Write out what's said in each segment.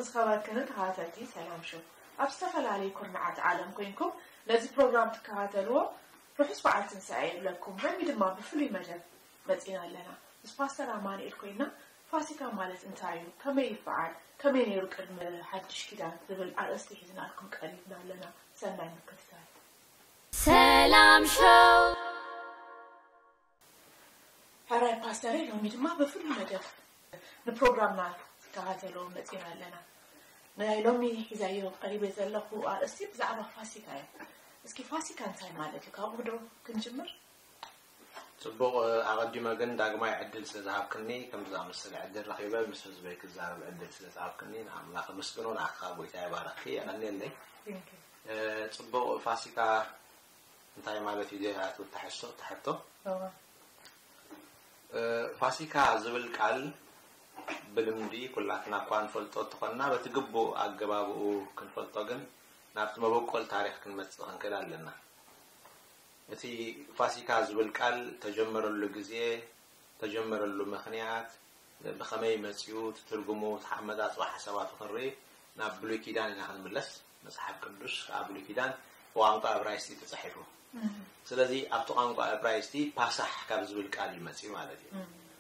ዝኸበርክንን ተኸታተልቲ ሰላም ሾው፣ ኣብ ዝተፈላለዩ ኩርናዓት ዓለም ኮይንኩም ነዚ ፕሮግራም ትከታተልዎ ርሑስ በዓል ትንሳኤ ይብለኩም። ሎሚ ድማ ብፍሉይ መደብ መጺና ኣለና። ምስ ፓስተር ኣማኑኤል ኮይና ፋሲካ ማለት እንታይ እዩ? ከመይ ይበዓል? ከመይ ነይሩ ቅድሚ ሓድሽ ኪዳን? ዝብል ኣርእስቲ ሒዝናልኩም ቀሪብና ኣለና። ሰናይ ምክትታል። ሰላም ሾው። ሕራይ ፓስተረይ፣ ሎሚ ድማ ብፍሉይ መደብ ንፕሮግራምና ትከታተልዎ መጺና ኣለና። ናይ ሎሚ ሒዛዮ ቀሪበ ዘለኹ ኣርእስቲ ብዛዕባ ፋሲካ እዩ። እስኪ ፋሲካ እንታይ ማለት እዩ? ካብኡ ዶ ክንጅምር? ጽቡቕ። ኣቐዲመ ግን ዳግማይ ዕድል ስለ ዝሃብክኒ፣ ከምዚ ዝኣመሰለ ዕድል ረኺበ ምስ ህዝበይ ክዛረብ ዕድል ስለ ዝሃብክኒ ንኣምላኽ ኣመስግኖ። ንዓኻ ጎይታ ይባርኽኪ፣ የቐንየለይ። ጽቡቕ። ፋሲካ እንታይ ማለት እዩ? ዜና ትብል ትሕዝቶ ትሕቶ። ፋሲካ ዝብል ቃል ብልምዲ ኩላትና እኳ ንፈልጦ እንተኾንና፣ በቲ ግቡእ ኣገባብኡ ክንፈልጦ ግን ናብቲ መበቆል ታሪኽ ክንመጽእ ክንክእል ኣለና። እቲ ፋሲካ ዝብል ቃል ተጀመረሉ ግዜ፣ ተጀመረሉ ምኽንያት፣ ብኸመይ መጺኡ፣ እቲ ትርጉሙ፣ እቲ ኣመጻጽኣ ሓሳባቱ ክንርኢ ናብ ብሉይ ኪዳን ኢና ክንምለስ። መጽሓፍ ቅዱስ ኣብ ብሉይ ኪዳን ብቋንቋ እብራይስጢ ተጻሒፉ። ስለዚ ኣብቲ ቋንቋ እብራይስጢ ፓሳሕ ካብ ዝብል ቃል እዩ መጺኡ ማለት እዩ።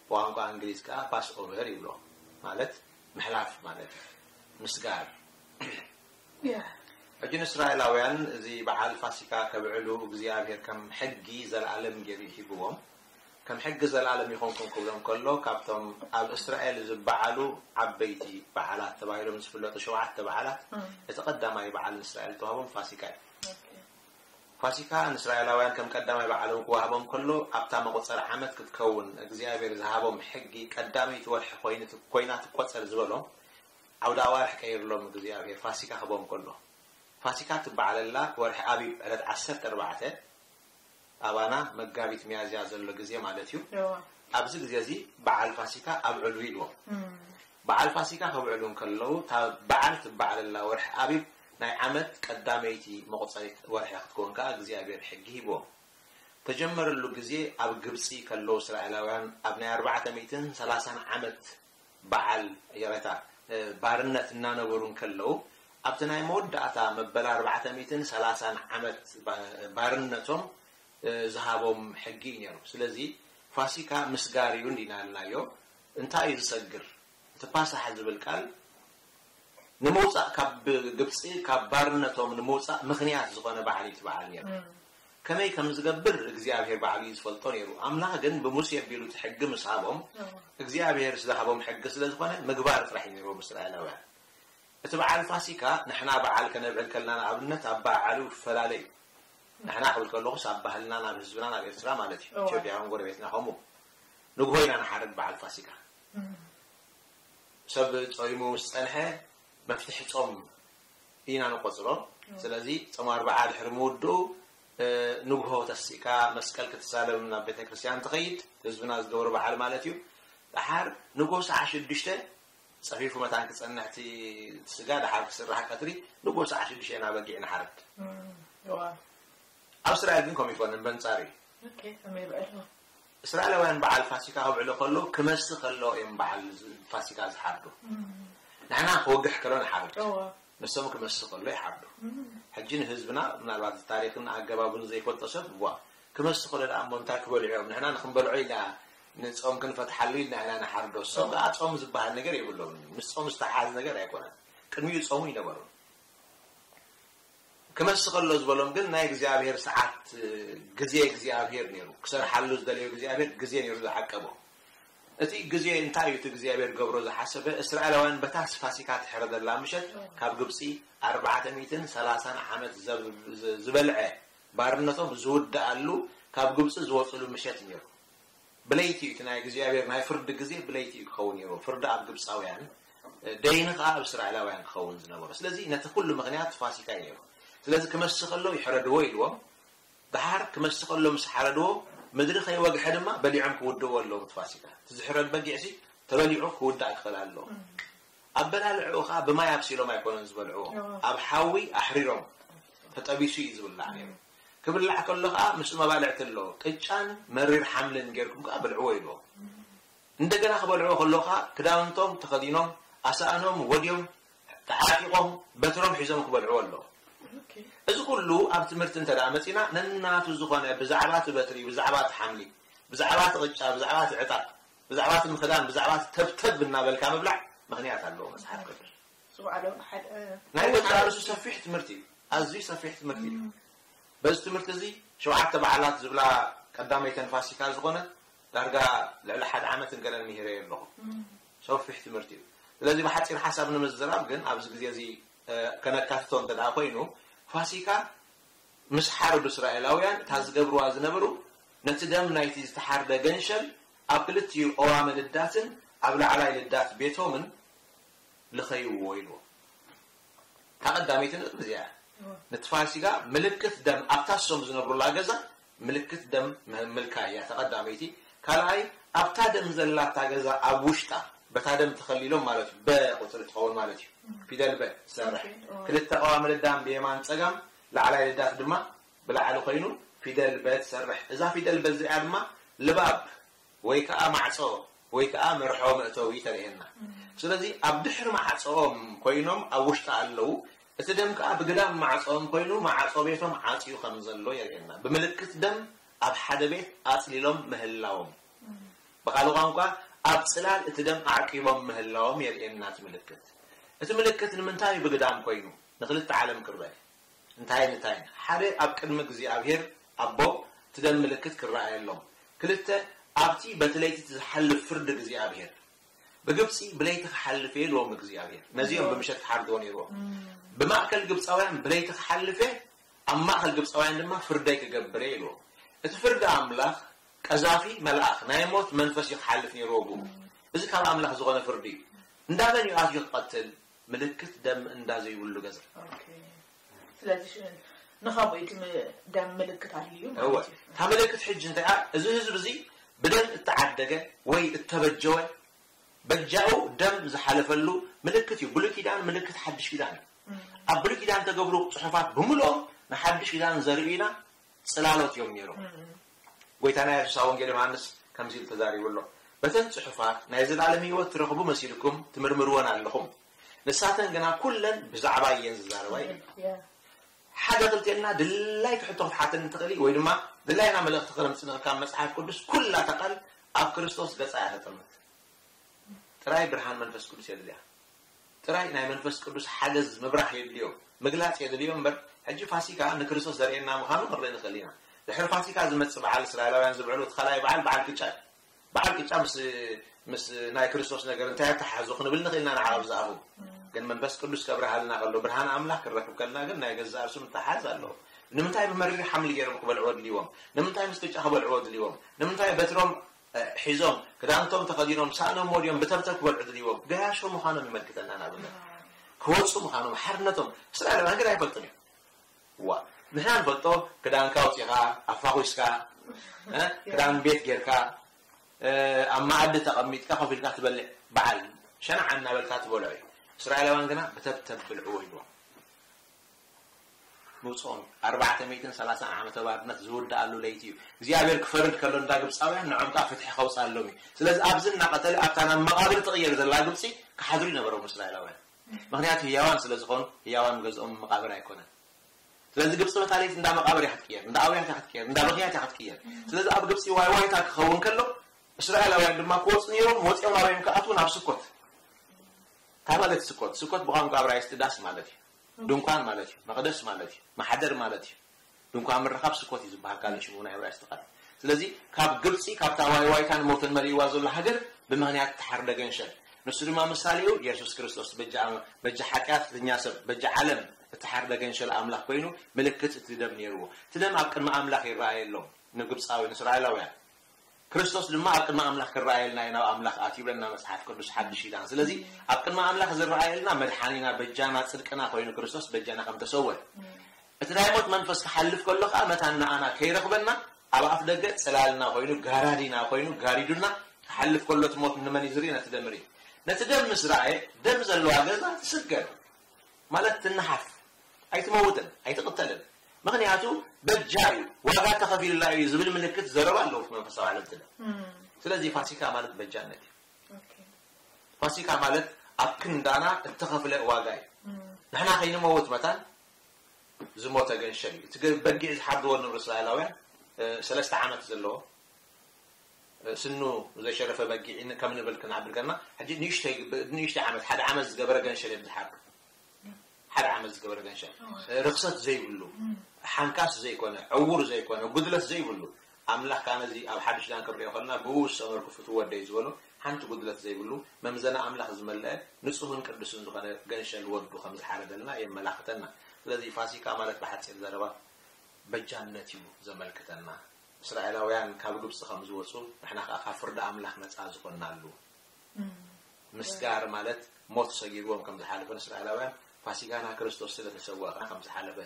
ብቋንቋ እንግሊዝ ከኣ ፓስ ኦቨር ይብሎ፣ ማለት ምሕላፍ ማለት እዩ፣ ምስጋር። ሕጂ ንእስራኤላውያን እዚ በዓል ፋሲካ ከብዕሉ እግዚኣብሔር ከም ሕጊ ዘለኣለም ገይሩ ሂብዎም። ከም ሕጊ ዘለኣለም ይኾንኩም ክብሎም ከሎ፣ ካብቶም ኣብ እስራኤል ዝበዓሉ ዓበይቲ በዓላት ተባሂሎም ዝፍለጡ ሸውዓተ በዓላት እቲ ቀዳማይ በዓል ንእስራኤል ተዋህቦም ፋሲካ እዩ። ፋሲካ ንእስራኤላውያን ከም ቀዳማይ በዓሎም ክዋህቦም ከሎ፣ ኣብታ መቑጸሪ ዓመት ክትከውን እግዚኣብሔር ዝሃቦም ሕጊ ቀዳመይቲ ወርሒ ኮይኑ ኮይና ትቆጸር ዝበሎም ዓውደ ኣዋርሕ ቀይርሎም እግዚኣብሔር ፋሲካ ክቦም ከሎ። ፋሲካ ትበዓለላ ወርሒ ኣቢብ ዕለት ዓሰርተ ኣርባዕተ ኣባና መጋቢት ሚያዝያ ዘሎ ግዜ ማለት እዩ። ኣብዚ ግዜ እዚ በዓል ፋሲካ ኣብዕሉ ኢልዎም። በዓል ፋሲካ ከብዕሉ እንከለዉ፣ እታ በዓል ትበዓለላ ወርሒ ኣቢብ ናይ ዓመት ቀዳመይቲ መቑጸሪት ወርሒ ክትከውን ከኣ እግዚኣብሔር ሕጊ ሂብዎም። ተጀመረሉ ግዜ ኣብ ግብጺ ከለዉ እስራኤላውያን ኣብ ናይ ኣርባዕተ ሚእትን ሰላሳን ዓመት በዓል፣ ይቕሬታ፣ ባርነት እናነበሩ እንከለዉ፣ ኣብቲ ናይ መወዳእታ መበል ኣርባዕተ ሚእትን ሰላሳን ዓመት ባርነቶም ዝሃቦም ሕጊ እዩ ነይሩ። ስለዚ ፋሲካ ምስጋር እዩ እንዲና ኢልናዮ። እንታይ እዩ ዝሰግር? እቲ ፓሳሓ ዝብል ቃል ንምውፃእ ካብ ግብፂ፣ ካብ ባርነቶም ንምውፃእ ምኽንያት ዝኾነ በዓል እዩ እቲ በዓል ነይሩ። ከመይ ከም ዝገብር እግዚኣብሔር ባዕሉ እዩ ዝፈልጦ ነይሩ። ኣምላኽ ግን ብሙሴ ኣቢሉ እቲ ሕጊ ምስ ሃቦም፣ እግዚኣብሔር ዝሃቦም ሕጊ ስለ ዝኾነ ምግባር ጥራሕ እዩ ነይርዎም እስራኤላውያን። እቲ በዓል ፋሲካ ንሕና በዓል ከነብዕል ከለና ንኣብነት ኣብ በዓሉ ይፈላለ እዩ። ንሕና ክብል ከለኹስ ኣብ ባህልናን ኣብ ህዝብናን ኣብ ኤርትራ ማለት እዩ። ኢትዮጵያውን ጎረቤትና ከምኡ ንግሆ ኢና ንሓርድ በዓል ፋሲካ። ሰብ ጾይሙ ምስ ጸንሐ መፍትሒ ጾም ኢና ንቆጽሮ። ስለዚ ጾም ኣርብዓ ድሕሪ ምውድኡ ንግሆ ተሲእካ መስቀል ክትሳለም ናብ ቤተክርስትያን ትኸይድ፣ ህዝብና ዝገብሮ በዓል ማለት እዩ። ደሓር ንግሆ ሰዓት ሽዱሽተ ጸፊፉ መታን ክጸንሕ እቲ ስጋ ደሓር ክስራሕ ቀትሪ ንግሆ ሰዓት ሽዱሽተ ኢና በጊዕ ንሓርድ። ኣብ እስራኤል ግን ከምኡ ይኮነን፣ በንጻር እዩ። እስራኤላውያን በዓል ፋሲካ ከብዕሉ ከለዉ ክመሲ ከለዉ እዮም በዓል ፋሲካ ዝሓርዱ። ንሕና ክወግሕ ከሎ ንሓርድ፣ ንሶም ክመሲ ከሎ ይሓርዱ። ሕጂ ንህዝብና ምናልባት ታሪክን ኣገባቡን ዘይፈልጦ ሰብ ዋ ክመሲ ከሎ ደኣ እሞ እንታይ ክበልዑ እዮም? ንሕና ንክንበልዖ ኢልና ንጾም ክንፈትሓሉ ኢልና ኢና ንሓርዶ። እሶም ከኣ ጾም ዝበሃል ነገር የብሎምን። ምስ ጾም ዝተሓዝ ነገር ኣይኮነን። ቅድሚኡ ጾሙ ይነበሩ። ክመሲ ከሎ ዝበሎም ግን ናይ እግዚኣብሔር ሰዓት፣ ግዜ እግዚኣብሔር ነይሩ። ክሰርሓሉ ዝደለዮ እግዚኣብሔር ግዜ ነይሩ ዝዓቀቦ። እቲ ግዜ እንታይ እዩ? እቲ እግዚኣብሔር ገብሮ ዝሓሰበ እስራኤላውያን በታ ፋሲካ ትሕረደላ ምሸት ካብ ግብፂ ኣርባዕተ ሚእትን ሰላሳን ዓመት ዝበልዐ ባርነቶም ዝውድኣሉ ካብ ግብፂ ዝወፅሉ ምሸት ነይሩ። ብለይቲ እዩ እቲ ናይ እግዚኣብሔር ናይ ፍርዲ ግዜ ብለይቲ እዩ ክኸውን ነይሩ። ፍርዲ ኣብ ግብፃውያን ደይኒ ከዓ ኣብ እስራኤላውያን ክኸውን ዝነበሮ። ስለዚ ነቲ ኩሉ ምኽንያት ፋሲካ እዩ ነይሩ። ስለዚ ክመሲ ከሎ ይሕረድዎ ኢልዎም። ደሓር ክመሲ ከሎ ምስ ሓረድዎ ምድሪ ከይወግሐ ድማ በሊዖም ክውድእዎ ኣለዎም። እቲ ፋሲካ እቲ ዝሕረድ በጊዕሲ ተበሊዑ ክውዳእ ክኽእል ኣለዎ። ኣበላልዕኡ ከዓ ብማይ ኣብሲሎም ኣይኮነን ዝበልዕዎ፣ ኣብ ሓዊ ኣሕሪሮም ተጠቢሱ እዩ ዝብላዕ ነይሩ። ክብላዕ ከሎ ከዓ ምስ መባልዕቲ ኣሎ ቅጫን መሪር ሓምልን ጌርኩም ከዓ ብልዕዎ ኢልዎም። እንደገና ክበልዕዎ ከሎ ከዓ ክዳውንቶም ተኸዲኖም ኣሳእኖም ወድዮም ተዓጢቖም በትሮም ሒዞም ክበልዕዎ ኣለዎም። እዚ ኩሉ ኣብ ትምህርቲ እንተ ደኣ መጺና፣ ነናቱ ዝኾነ ብዛዕባ እቲ በትሪ፣ ብዛዕባ እቲ ሓምሊ፣ ብዛዕባ እቲ ቅጫ፣ ብዛዕባ እቲ ዕጣ፣ ብዛዕባ እቲ ምኽዳን፣ ብዛዕባ እቲ ተብተብ እናበልካ ምብላዕ ምኽንያት ኣለዎ መጽሓፍ ቅዱስ። ናይ ገዛ ርእሱ ሰፊሕ ትምህርቲ እዩ። ኣዝዩ ሰፊሕ ትምህርቲ እዩ። በዚ ትምህርቲ እዚ ሸውዓተ በዓላት ዝብላ ቀዳመይተን ፋሲካ ዝኾነ ዳርጋ ልዕሊ ሓደ ዓመትን ገለን ምሂረዮ ኣለኹ። ሰፊሕ ትምህርቲ እዩ። ስለዚ ብሓጺር ሓሳብ ንምዝራብ ግን ኣብዚ ግዜ እዚ ከነካትቶ እንተ ደኣ ኮይኑ ፋሲካ ምስ ሓረዱ እስራኤላውያን እታ ዝገብርዋ ዝነበሩ ነቲ ደም ናይቲ ዝተሓርደ ገንሸል ኣብ ክልቲኡ ቀዋሚ ልዳትን ኣብ ላዕላይ ልዳት ቤቶምን ልኸይዎ ኢልዎ። እታ ቀዳመይቲ ነጥቢ እዚኣ እያ። ነቲ ፋሲካ ምልክት ደም ኣብታ እሶም ዝነብሩላ ገዛ ምልክት ደም ምልካይ እያ እታ ቀዳመይቲ። ካልኣይ ኣብታ ደም ዘላታ ገዛ ኣብ ውሽጣ በታ ደም ተኸሊሎም ማለት እዩ። በ ቁፅሪ ትኸውን ማለት እዩ። ፊደል በ ትሰርሕ። ክልተ ቀዋሚ ልዳም ብየማን ፀጋም፣ ላዕላይ ልዳት ድማ ብላዕሊ ኮይኑ ፊደል በ ትሰርሕ። እዛ ፊደል በ እዚኣ ድማ ልባብ ወይ ከዓ ማዕጾ ወይ ከዓ መርሖ መእተዊ ተርእየና። ስለዚ ኣብ ድሕሪ ማዕጾኦም ኮይኖም ኣብ ውሽጢ ኣለዉ። እቲ ደም ከዓ ብግዳም ማዕጾኦም ኮይኑ ማዕጾ ቤቶም ዓጽዩ ከም ዘሎ የርእየና። ብምልክት ደም ኣብ ሓደ ቤት ኣጽሊሎም ምህላዎም። ብኻልእ ቋንቋ ኣብ ጽላል እቲ ደም ኣዕቂቦም ምህላዎም የርእየና እቲ ምልክት። እቲ ምልክት ንምንታይ ብግዳም ኮይኑ ንክልተ ዓለም ክረአ? እንታይን እንታይን? ሓደ ኣብ ቅድሚ እግዚኣብሔር ኣቦ እቲ ደም ምልክት ክረኣየሎም። ክልተ ኣብቲ በቲ ለይቲ ዝሓልፍ ፍርዲ እግዚኣብሔር። ብግብፂ ብለይቲ ክሓልፍ እየ ኢልዎም እግዚኣብሔር። ነዚኦም ብምሸት ክሓርድዎ ነይርዎም። ብማእከል ግብፃውያን ብለይቲ ክሓልፍ እየ፣ ኣብ ማእከል ግብፃውያን ድማ ፍርደይ ክገብር እየ ኢልዎም። እቲ ፍርዲ ኣምላኽ ቀዛፊ መልኣኽ ናይ ሞት መንፈስ እዩ ክሓልፍ ነይርዎ ብኡ። እዚ ካብ ኣምላኽ ዝኾነ ፍርዲ እዩ። እንዳመን እዩ ኣትዩ ክቐትል? ምልክት ደም እንዳ ዘይብሉ ገዛ። ስለዚ ንኸምኡ እቲ ደም ምልክት ኣድልዩ ማለት እዩ። እታ ምልክት ሕጂ እንታይ እያ? እዚ ህዝቢ እዚ ብደም እተዓደገ ወይ እተበጀወ በጃኡ ደም ዝሓለፈሉ ምልክት እዩ። ብሉይ ኪዳን ምልክት ሓድሽ ኪዳን እዩ። ኣብ ብሉይ ኪዳን ተገብሩ ፅሑፋት ብምልኦም ንሓድሽ ኪዳን ዘርእዩ ኢና። ጽላሎት እዮም ነይሮም። ጎይታና የሱስ ኣብ ወንጌል ዮሃንስ ከምዚ ኢሉ ተዛሪቡ ኣሎ፣ በተን ጽሑፋት ናይ ዘላለም ህይወት ትረኽቡ መሲልኩም ትምርምርወን ኣለኹም፣ ንሳተን ግና ኩለን ብዛዕባ እየን ዝዛረባ እዩ። ሓደ ክልቴና ድላይ ትሕቶ ክትሓተኒ ትኽእሊ ወይ ድማ ድላይና መልእኽቲ ክረምፅንኺ ካብ መፅሓፍ ቅዱስ ኩላ እታ ቃል ኣብ ክርስቶስ ገፃ እያ ተጠምት። ጥራይ ብርሃን መንፈስ ቅዱስ የድልያ። ጥራይ ናይ መንፈስ ቅዱስ ሓገዝ ምብራህ የድልዮ፣ ምግላፅ የድልዮ እምበር ሕጂ ፋሲካ ንክርስቶስ ዘርእየና ምዃኑ ክንርኢ ንኽእል ኢና። ድሕሪ ፋሲካ ዝመፅእ በዓል እስራኤላውያን ዝብዕሉ እቲ ካልኣይ በዓል በዓል ቅጫ እዩ። በዓል ቅጫ ምስ ምስ ናይ ክርስቶስ ነገር እንታይ ኣተሓሕዞ ክንብል ንኽእል ኢና ንዓቐብ ዝኣኹ። ግን መንፈስ ቅዱስ ከብርሃልና ከሎ ብርሃን ኣምላኽ ክንረክብ ከልና ግን ናይ ገዛእ ርእሱ ምትሓዝ ኣለዎ። ንምንታይ ብመሪር ሓምሊ ገይሮም ክበልዕዎ ድልዎም? ንምንታይ ምስ ቅጫ ክበልዕዎ ድልዎም? ንምንታይ በትሮም ሒዞም ክዳንቶም ተኸዲኖም ሳእኖም ወዲኦም ብተብተብ ክበልዑ ድልዎም ገያሾ ምዃኖም ይመልክተና። ንኣብነት ክወፁ ምዃኖም ሓርነቶም እስራኤላውያን ግን ኣይፈልጡን እዮም። ዋ ንሕና ንፈልጦ ክዳንካ ኣውፂኻ ኣፋኹስካ ክዳን ቤት ጌርካ ኣብ መኣዲ ተቐሚጥካ ኮፍ ኢልካ ትበልዕ በዓል ሸናዓ እናበልካ ትበልዖ እዩ። እስራኤላውያን ግና ብተብተብ ብልዕዎ ኢልዎም። ምውፅኦም ኣርባዕተ ሚእትን ሰላሳን ዓመተ ባርነት ዝውድኣሉ ለይቲ እዩ። እግዚኣብሔር ክፈርድ ከሎ እንዳ ግብፃውያን ንዖም ከዓ ፍትሒ ከውፅኣሎም እዩ። ስለዚ ኣብዚ እናቐተለ ኣብታ ናብ መቓብር ትቕየር ዘላ ግብፂ ክሓድሩ ይነበሮም እስራኤላውያን። ምክንያቱ ህያዋን ስለ ዝኾኑ ህያዋን ገዝኦም መቓብር ኣይኮነን። ስለዚ ግብፂ በታ ለይቲ እንዳ መቓብር እያ ክትቅየር፣ እንዳ ኣውያት እያ ክትቅየር፣ እንዳ ብኽያት እያ ክትቅየር። ስለዚ ኣብ ግብፂ ዋይ ዋይታ ክኸውን ከሎ እስራኤላውያን ድማ ክወፁ ነይሮም። ወፂኦም ኣበዮም ክኣትዉ ናብ ስኮት። እንታይ ማለት ስኮት? ስኮት ብቋንቋ እብራይስጢ ዳስ ማለት እዩ። ድንኳን ማለት እዩ። መቕደስ ማለት እዩ። ማሕደር ማለት እዩ። ድንኳን ምርኻብ ስኮት እዩ ዝበሃል ካልእ ሽሙ ናይ እብራይስጢ ቃል። ስለዚ ካብ ግብጺ ካብታ ዋይ ዋይታን ሞትን መሊእዋ ዘሎ ሃገር ብምኽንያት እተሓርደ ገንሸል ንሱ ድማ ምሳሌኡ የሱስ ክርስቶስ በጃ በጃ ሓጢኣተኛ ሰብ በጃ ዓለም እተሓርደ ገንሸል ኣምላኽ ኮይኑ ምልክት እቲ ደም ነይርዎ። እቲ ደም ኣብ ቅድሚ ኣምላኽ ይረኣየሎም ንግብጻዊ ንእስራኤላውያን። ክርስቶስ ድማ ኣብ ቅድሚ ኣምላኽ ክረኣየልና እዩ ናብ ኣምላኽ ኣትዩ ይብለና መጽሓፍ ቅዱስ ሓድሽ ኪዳን። ስለዚ ኣብ ቅድሚ ኣምላኽ ዝረኣየልና መድሓኒና በጃና ጽድቅና ኮይኑ ክርስቶስ በጃና ከም ተሰወ እቲ ናይ ሞት መንፈስ ክሓልፍ ከሎ ከዓ መታን ንኣና ከይረኽበና ኣብ ኣፍ ደገ ጽላልና ኮይኑ ጋራዲና ኮይኑ ጋሪዱና ክሓልፍ ከሎ እቲ ሞት ንመን እዩ ዝርኢ? ነቲ ደም ርኢ። ነቲ ደም ምስ ረኣየ ደም ዘለዋ ገዛ ትስገር ማለት ትነሓፍ ኣይትመውትን ኣይትቕተልን። ምኽንያቱ በጃ እዩ ዋጋ ተኸፊሉላ እዩ ዝብል ምልክት ዘረባ ኣለዎ እቲ መንፈሳዊ ዓለም እቲ ደም። ስለዚ ፋሲካ ማለት በጃነት እዩ። ፋሲካ ማለት ኣብ ክንዳና እተኸፍለ ዋጋ እዩ። ንሕና ከይንመውት መታን ዝሞተ ገንሸል እዩ። እቲ ገ- በጊዕ ዝሓርድዎ ንብረት እስራኤላውያን እ፣ ሰለስተ ዓመት ዘለዎ እ፣ ስኑ ዘይሸረፈ በጊዕ ን- ከም ንብል ክንዓብር ከለና ሕጂ ንእሽተይ ብ- ንእሽተይ ዓመት ሓደ ዓመት ዝገበረ ገንሸል እዮም ዝሓርዱ። ሓደ ዓመት ዝገበረ ገንሸል እ፣ ርክሰት ዘይብሉ ሓንካስ ዘይኮነ ዕውር ዘይኮነ ጉድለት ዘይብሉ ኣምላኽ ካነ እዚ ኣብ ሓድሽ ዳን ክንሪኦ ከለና ብኡ ዝሰመርኩ ፍትው ወደይ ዝበሎ ሓንቲ ጉድለት ዘይብሉ መምዘና ኣምላኽ ዝመለአ ንጹህን ቅዱስን ዝኾነ ገንሸል ወዱ ከም ዝሓረደልና የመላኽተና። ስለዚ ፋሲካ ማለት ብሓጺር ዘረባ በጃነት እዩ ዘመልክተና። እስራኤላውያን ካብ ግብፂ ከም ዝወፁ ንሕና ከዓ ካብ ፍርዲ ኣምላኽ ነፃ ዝኾንናሉ ምስጋር ማለት ሞት ሰጊርዎም ከም ዝሓለፈ ንእስራኤላውያን ፋሲካና ክርስቶስ ስለ ተሰወአ ከዓ ከም ዝሓለፈ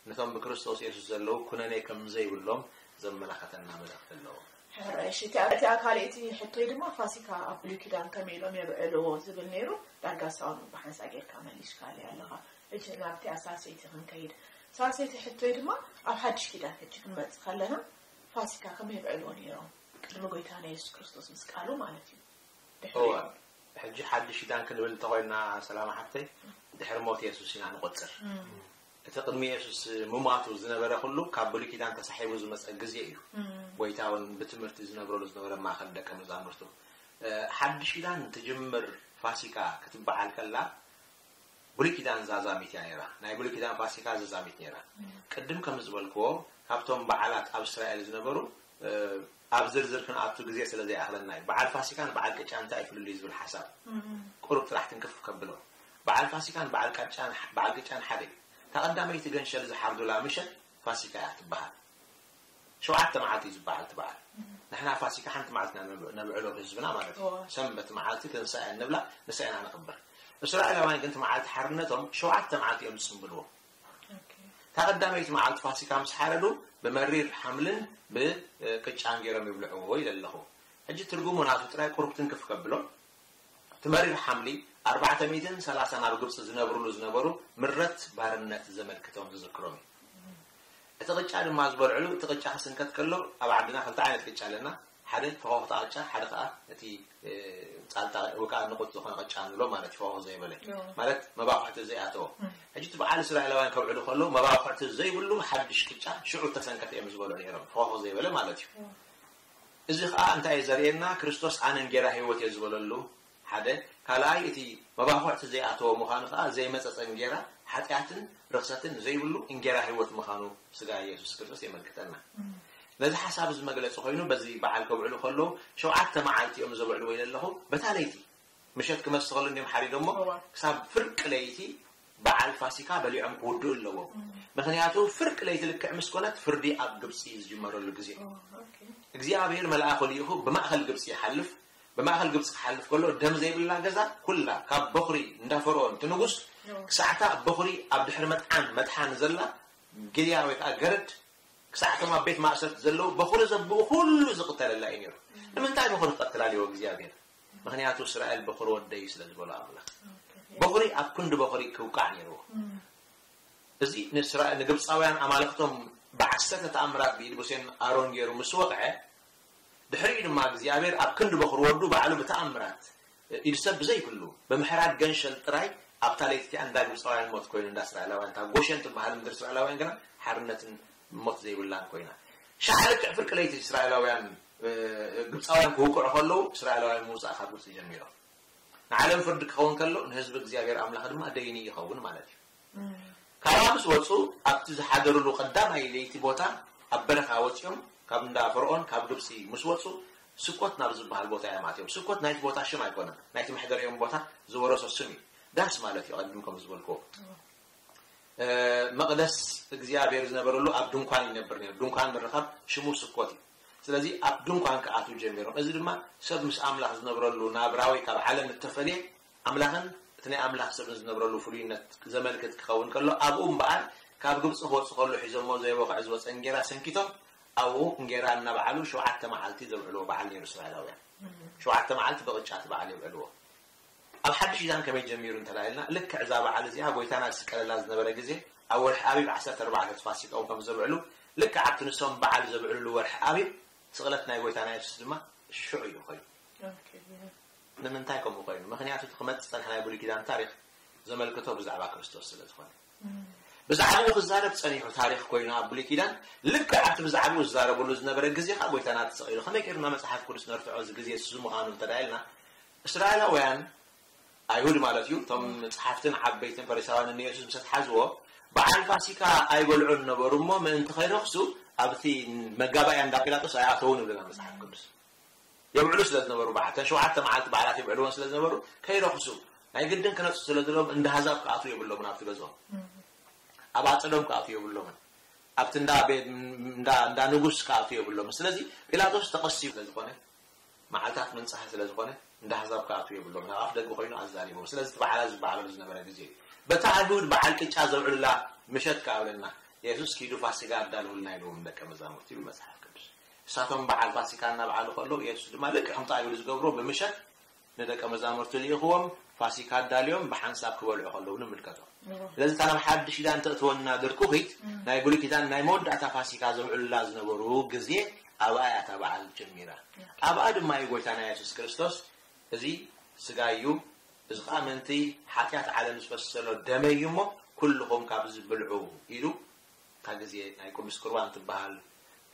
ነቶም ብክርስቶስ የሱስ ዘለዉ ኩነኔ ከም ዘይብሎም ዘመላኸተና መልእኽቲ ኣለዎ። ሕራይ እሺ፣ እቲኣ እቲኣ ካልኣይቲ ሕቶይ ድማ ፋሲካ ኣብ ብሉይ ኪዳን ከመይ ኢሎም የብዕልዎ ዝብል ነይሩ። ዳርጋ ሳውን ብሓንሳ ጌርካ መሊስካለይ ኣለኻ። ሕጂ ናብቲ ኣሳሰይቲ ክንከይድ። ሳሰይቲ ሕቶይ ድማ ኣብ ሓድሽ ኪዳን ሕጂ ክንመጽእ ከለና ፋሲካ ከመይ የብዕልዎ ነይሮም? ቅድሚ ጎይታና የሱስ ክርስቶስ ምስ ቃሉ ማለት እዩ። ድሕሪ እወ። ሕጂ ሓድሽ ኪዳን ክንብል እንተኾይና ሰላም ሓፍተይ ድሕሪ ሞት የሱስ ኢና ንቆጽር። እቲ ቅድሚ የሱስ ምማቱ ዝነበረ ኩሉ ካብ ብሉይ ኪዳን ተሳሒቡ ዝመጸ ግዜ እዩ። ጎይታ እውን ብትምህርቲ ዝነብረሉ ዝነበረ ማእከል ደቀ መዛሙርቱ። እ፣ ሓድሽ ኪዳን ትጅምር ፋሲካ ክትበዓል ከላ ብሉይ ኪዳን ዛዛሚት እያ ነይራ። ናይ ብሉይ ኪዳን ፋሲካ ዛዛሚት ነይራ። ቅድም ከም ዝበልክዎ ካብቶም በዓላት ኣብ እስራኤል ዝነበሩ እ፣ ኣብ ዝርዝር ክንኣቱ ግዜ ስለ ዘይኣኽለና እዩ። በዓል ፋሲካን በዓል ቅጫን እንታይ እዩ ፍልልዩ ዝብል ሓሳብ ቁሩብ ጥራሕ ትንክፍ ከብሎ። በዓል ፋሲካን በዓል ቅጫን በዓል ቅጫን ሓደ እዩ። እታ ቀዳመይቲ ገንሸል ዝሓርዱላ ምሸት ፋሲካ እያ ትበሃል። ሸውዓተ መዓልቲ እዩ ዝበዓል እቲ በዓል። ንሕና ፋሲካ ሓንቲ መዓልቲ ኢና ነብ- ነብዕሎ ህዝብና ማለት እዩ። እዎ። ሰንበት መዓልቲ ትንሳኤ ንብላ ንሳ ኢና ነኽብር። እስራኤላውያን ግን እቲ መዓልቲ ሓርነቶም ሸውዓተ መዓልቲ እዮም ዝጽንብልዎ። እታ ቀዳመይቲ መዓልቲ ፋሲካ ምስ ሓረዱ ብመሪር ሓምልን ብቅጫን ገይሮም ይብልዕዎ ኢለ ኣለኹ። ሕጂ ትርጉሙ ናቱ ጥራይ ቁሩብ ትንክፍ ከብሎ። እቲ መሪር ሓምሊ ኣርባዕተ ሚእትን ሰላሳን ኣብ ግብፂ ዝነብርሉ ዝነበሩ ምረት ባርነት ዘመልክቶም ዝዝክሮም እዩ። እቲ ቅጫ ድማ ዝበልዕሉ እቲ ቅጫ ክስንከት ከሎ ኣብ ዓድና ክልተ ዓይነት ቅጫ ኣለና። ሓደ ፈኾኽታ ቅጫ ሓደ ከዓ እቲ እ፣ ፃልጣ ወይ ከዓ ንቁፅ ዝኾነ ቅጫ ንብሎ ማለት እዩ። ፈኾኽ ዘይበለ ማለት መባኩዕቲ ዘይኣተዎ። ሕጂ እቲ በዓል እስራኤላውያን ከብዕሉ ከለዉ መባኩዕቲ ዘይብሉ ሓድሽ ቅጫ ሽዑ ተሰንከተ እዮም ዝበልዑ ነይሮም። ፈኾኽ ዘይበለ ማለት እዩ። እዚ ከዓ እንታይ እዩ ዘርእየና? ክርስቶስ ኣነ እንጌራ ህይወት እየ ዝበለሉ ሓደ። ካልኣይ እቲ መባኩዕቲ ዘይኣተዎ ምዃኑ ከዓ ዘይመፀፀ እንጌራ ሓጢኣትን ርኽሰትን ዘይብሉ እንጌራ ህይወት ምዃኑ ስጋ የሱስ ክርስቶስ የመልክተና። ነዚ ሓሳብ እዚ መግለፂ ኮይኑ በዚ በዓል ከብዕሉ ከለዉ ሸውዓተ መዓልቲ እዮም ዘብዕልዎ ኢለ ኣለኹ። በታ ለይቲ ምሸት ክመስ ከሎ እንዲም ሓሪዶሞ ክሳብ ፍርቂ ለይቲ በዓል ፋሲካ በሊዖም ክውድኡ ኣለዎም። ምክንያቱ ፍርቂ ለይቲ ልክዕ ምስ ኮነት ፍርዲ ኣብ ግብፂ ዝጅመረሉ ግዜ እዩ። እግዚኣብሔር መልኣኹ ልኢኹ ብማእኸል ግብፂ ይሓልፍ። ብማእኸል ግብፂ ክሓልፍ ከሎ ደም ዘይብላ ገዛ ኩላ ካብ በኹሪ እንዳ ፈርኦን እቲ ንጉስ ክሳዕታ በኹሪ ኣብ ድሕሪ መጥዓን መጥሓን ዘላ ግልያ ወይ ከዓ ገረድ ክሳዕቶም ኣብ ቤት ማእሰርቲ ዘለዉ በኹሪ ዘብኡ ኩሉ ዝቕተለላ እዩ ነይሩ። ንምንታይ በኹሪ ክቐትል ኣልዎ እግዚኣብሔር? ምክንያቱ እስራኤል በኹሪ ወደይ ስለ ዝበሎ ኣምላኽ በኹሪ ኣብ ክንዲ በኹሪ ክውቃዕ ነይርዎ። እዚ ንእስራኤል ንግብፃውያን ኣማልኽቶም ብዓሰርተ ተኣምራት ብኢድ ሙሴን ኣሮን ገይሩ ምስ ወቕዐ ድሕሪኡ ድማ እግዚኣብሔር ኣብ ክንዲ በኹሪ ወዱ ባዕሉ ብተኣምራት ኢድ ሰብ ብዘይብሉ ብምሕራድ ገንሸል ጥራይ ኣብታ ለይቲ እቲኣ እንዳ ግብፃውያን ሞት ኮይኑ እንዳ እስራኤላውያን እታ ጎሸን ትበሃል ምድሪ እስራኤላውያን ግና ሓርነትን ሞት ዘይብላን ኮይና ሻዕ ልክዕ ፍርቂ ለይቲ እስራኤላውያን እ፣ ግብፃውያን ክውቅዑ ከለዉ እስራኤላውያን ምውፃእ ካብ ግብፂ ጀሚሮም ንዓለም ፍርዲ ክኸውን ከሎ ንህዝቢ እግዚኣብሔር ኣምላኽ ድማ ደይኒ ይኸውን ማለት እዩ። ካብኣ ምስ ወፁ ኣብቲ ዝሓደርሉ ቀዳማይ ለይቲ ቦታ ኣብ በረኻ ወፂኦም ካብ እንዳ ፈርኦን ካብ ግብፂ ምስ ወፁ ስኮት ናብ ዝበሃል ቦታ እዮም ኣትዮም። ስኮት ናይቲ ቦታ ሽም ኣይኮነን፣ ናይቲ መሕደሪኦም ቦታ ዝወረሶ ስም እዩ። ዳስ ማለት እዩ ቀድም ከም ዝበልክዎ እ፣ መቕደስ እግዚኣብሔር ዝነበረሉ ኣብ ድንኳን ይነብር ነይሩ። ድንኳን ምርኻብ ሽሙ ስኮት እዩ። ስለዚ ኣብ ድንኳን ክኣትዉ ጀሚሮም። እዚ ድማ ሰብ ምስ ኣምላኽ ዝነብረሉ ናብራ ወይ ካብ ዓለም እተፈልየ ኣምላኽን እቲ ናይ ኣምላኽ ሰብን ዝነብረሉ ፍሉይነት ዘመልክት ክኸውን ከሎ ኣብኡ እምበኣር ካብ ግብፂ ክወፁ ከሎ ሒዞሞ ዘይበቕዕ ዝወፀ እንጌራ ሰንኪቶም ኣብኡ እንጌራ እናበዓሉ ሸውዓተ መዓልቲ ዘብዕልዎ በዓል ነይሩ እስራኤላውያን። ሸውዓተ መዓልቲ ብቕጫ እቲ በዓል የብዕልዎ። ኣብ ሓድሽ ኪዳን ከመይ ጀሚሩ እንተላይልና ልክዕ እዛ በዓል እዚኣ ጎይታና ዝስቀለላ ዝነበረ ግዜ ኣብ ወርሒ ኣቢብ ዓሰርተ ኣርባዕተ ፋሲካኦም ከም ዘብዕሉ ልክዕ ኣብቲ ንሶም በዓል ዘብዕልሉ ወርሒ ኣቢብ ስቕለት ናይ ጎይታና የሱስ ድማ ሽዑ እዩ ኮይኑ። ንምንታይ ከምኡ ኮይኑ? ምክንያቱ እቲ ክመጽእ ዝጸንሐ ናይ ብሉይ ኪዳን ታሪኽ ዘመልክቶ ብዛዕባ ክርስቶስ ስለ ዝኾነ። ብዛዕባኡ ክዛረብ ጸኒሑ ታሪኽ ኮይኑ ኣብ ብሉይ ኪዳን፣ ልክዕ ኣብቲ ብዛዕባኡ ዝዛረበሉ ዝነበረ ግዜ ከኣ ጎይታና ተሰቒሉ። ከመይ ጌርና መጽሓፍ ቅዱስ ነርትዖ? እዚ ግዜ እዚ ምዃኑ እንተ ደኣ ኢልና፣ እስራኤላውያን፣ ኣይሁድ ማለት እዩ፣ እቶም ጸሓፍትን ዓበይትን ፈሪሳውያንን ንየሱስ ምስ ኣትሓዝዎ፣ በዓል ፋሲካ ኣይበልዑን ነበሩ እሞ፣ ምእንቲ ከይረኽሱ ኣብቲ መጋባእያ እንዳ ጲላጦስ ኣይኣተዉን ይብለና መጽሓፍ ቅዱስ። የብዕሉ ስለ ዝነበሩ በዓል፣ እተን ሸውዓተ መዓልቲ በዓላት የብዕልወን ስለ ዝነበሩ፣ ከይረኽሱ፣ ናይ ግድን ክነጽ ስለ ዘለዎም፣ እንዳ ኣህዛብ ክኣትዉ የብሎምን ኣብቲ ገዝኦም። ኣብ ኣጸዶም ክኣትዉ የብሎምን። ኣብቲ እንዳ ቤት፣ እንዳ፣ እንዳ ንጉስ ክኣትዉ የብሎምን። ስለዚ ጲላጦስ ተቐሲቡ ስለ ዝኾነ፣ መዓልታት ምንጻህ ስለ ዝኾነ፣ እንዳ ኣህዛብ ክኣትዉ የብሎምን። ኣብ ኣፍ ደገ ኮይኑ ኣዛሪቦም። ስለዚ እቲ በዓላት ዝበዓለሉ ዝነበረ ግዜ እዩ። በታ ኣይሁድ በዓል ቅጫ ዘብዕሉላ ምሸት ከኣ ብለና፣ የሱስ ኪዱ ፋሲጋ ኣዳልውልና ኢልዎም ደቀ መዛሙርቲ ይብል መጽሓፍ ቅዱስ። እሳቶም በዓል ፋሲካ እናበዓሉ ከለዉ፣ የሱስ ድማ ልክዕ ከምቲ ኣይሁድ ዝገብሮ ብምሸት ንደቀ መዛሙርቱ ልኢኽዎም ፋሲካ ኣዳልዮም ብሓንሳብ ክበልዑ ከለዉ ንምልከቶ። እዎ። ስለዚ እታ ናብ ሓድሽ ኪዳን ተእትወና ድርኩኺት እም። ናይ ብሉይ ኪዳን ናይ መወዳእታ ፋሲካ ዘብዕሉላ ዝነበሩ ግዜ ኣብኣ እያ እታ በዓል ጀሚራ። ኦኬ። ኣብኣ ድማ እዩ ጎይታና የሱስ ክርስቶስ፣ "እዚ ስጋይ እዩ፣ እዚ ኸኣ ምእንቲ ሓጢኣት ዓለም ዝፈስስ ዘሎ ደመይ እዩ እሞ ኩልኹም ካብዚ ብልዑ" ኢሉ እታ ግዜ ናይ ቅዱስ ቁርባን ትበሃል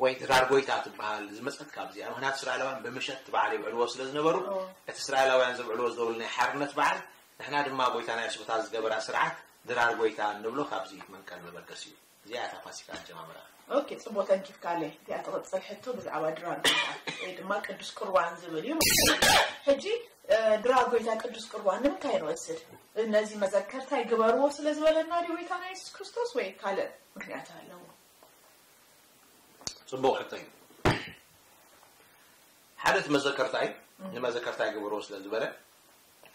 ወይ ድራር ጎይታ ትበሃል ዝመጸት ካብዚኣ። ምኽንያቱ እስራኤላውያን ብምሸት እቲ በዓል ይብዕልዎ ስለ ዝነበሩ፣ ኦ። እቲ እስራኤላውያን ዘብዕልዎ ዝነበሩ ናይ ሓርነት በዓል፣ ንሕና ድማ ጎይታና የሱስ በታ ዝገበራ ስርዓት ድራር ጎይታ እንብሎ ካብዚ መንቀል መበገሲ እዩ። እዚኣ እታ ፋሲካ ኣጀማምራ። ኦኬ፣ ጽቡቕ፣ ተንኪፍካለይ። እቲኣ ትቕጽል ሕቶ ብዛዕባ ድራር ጎይታ ወይ ድማ ቅዱስ ቁርባን ዝብል እዩ። ሕጂ፣ እ፣ ድራር ጎይታ ቅዱስ ቁርባን ንምንታይ ንወስድ? ነዚ መዘከርታ ይግበርዎ ስለ ዝበለና ድዩ ጎይታና የሱስ ክርስቶስ ወይ ካልእ ምክንያት ኣለዎ? ጽቡቕ ሕቶ እዩ። ሓደ እቲ መዘከርታ እዩ፣ እም። ንመዘከርታ ይግበርዎ ስለ ዝበለ፣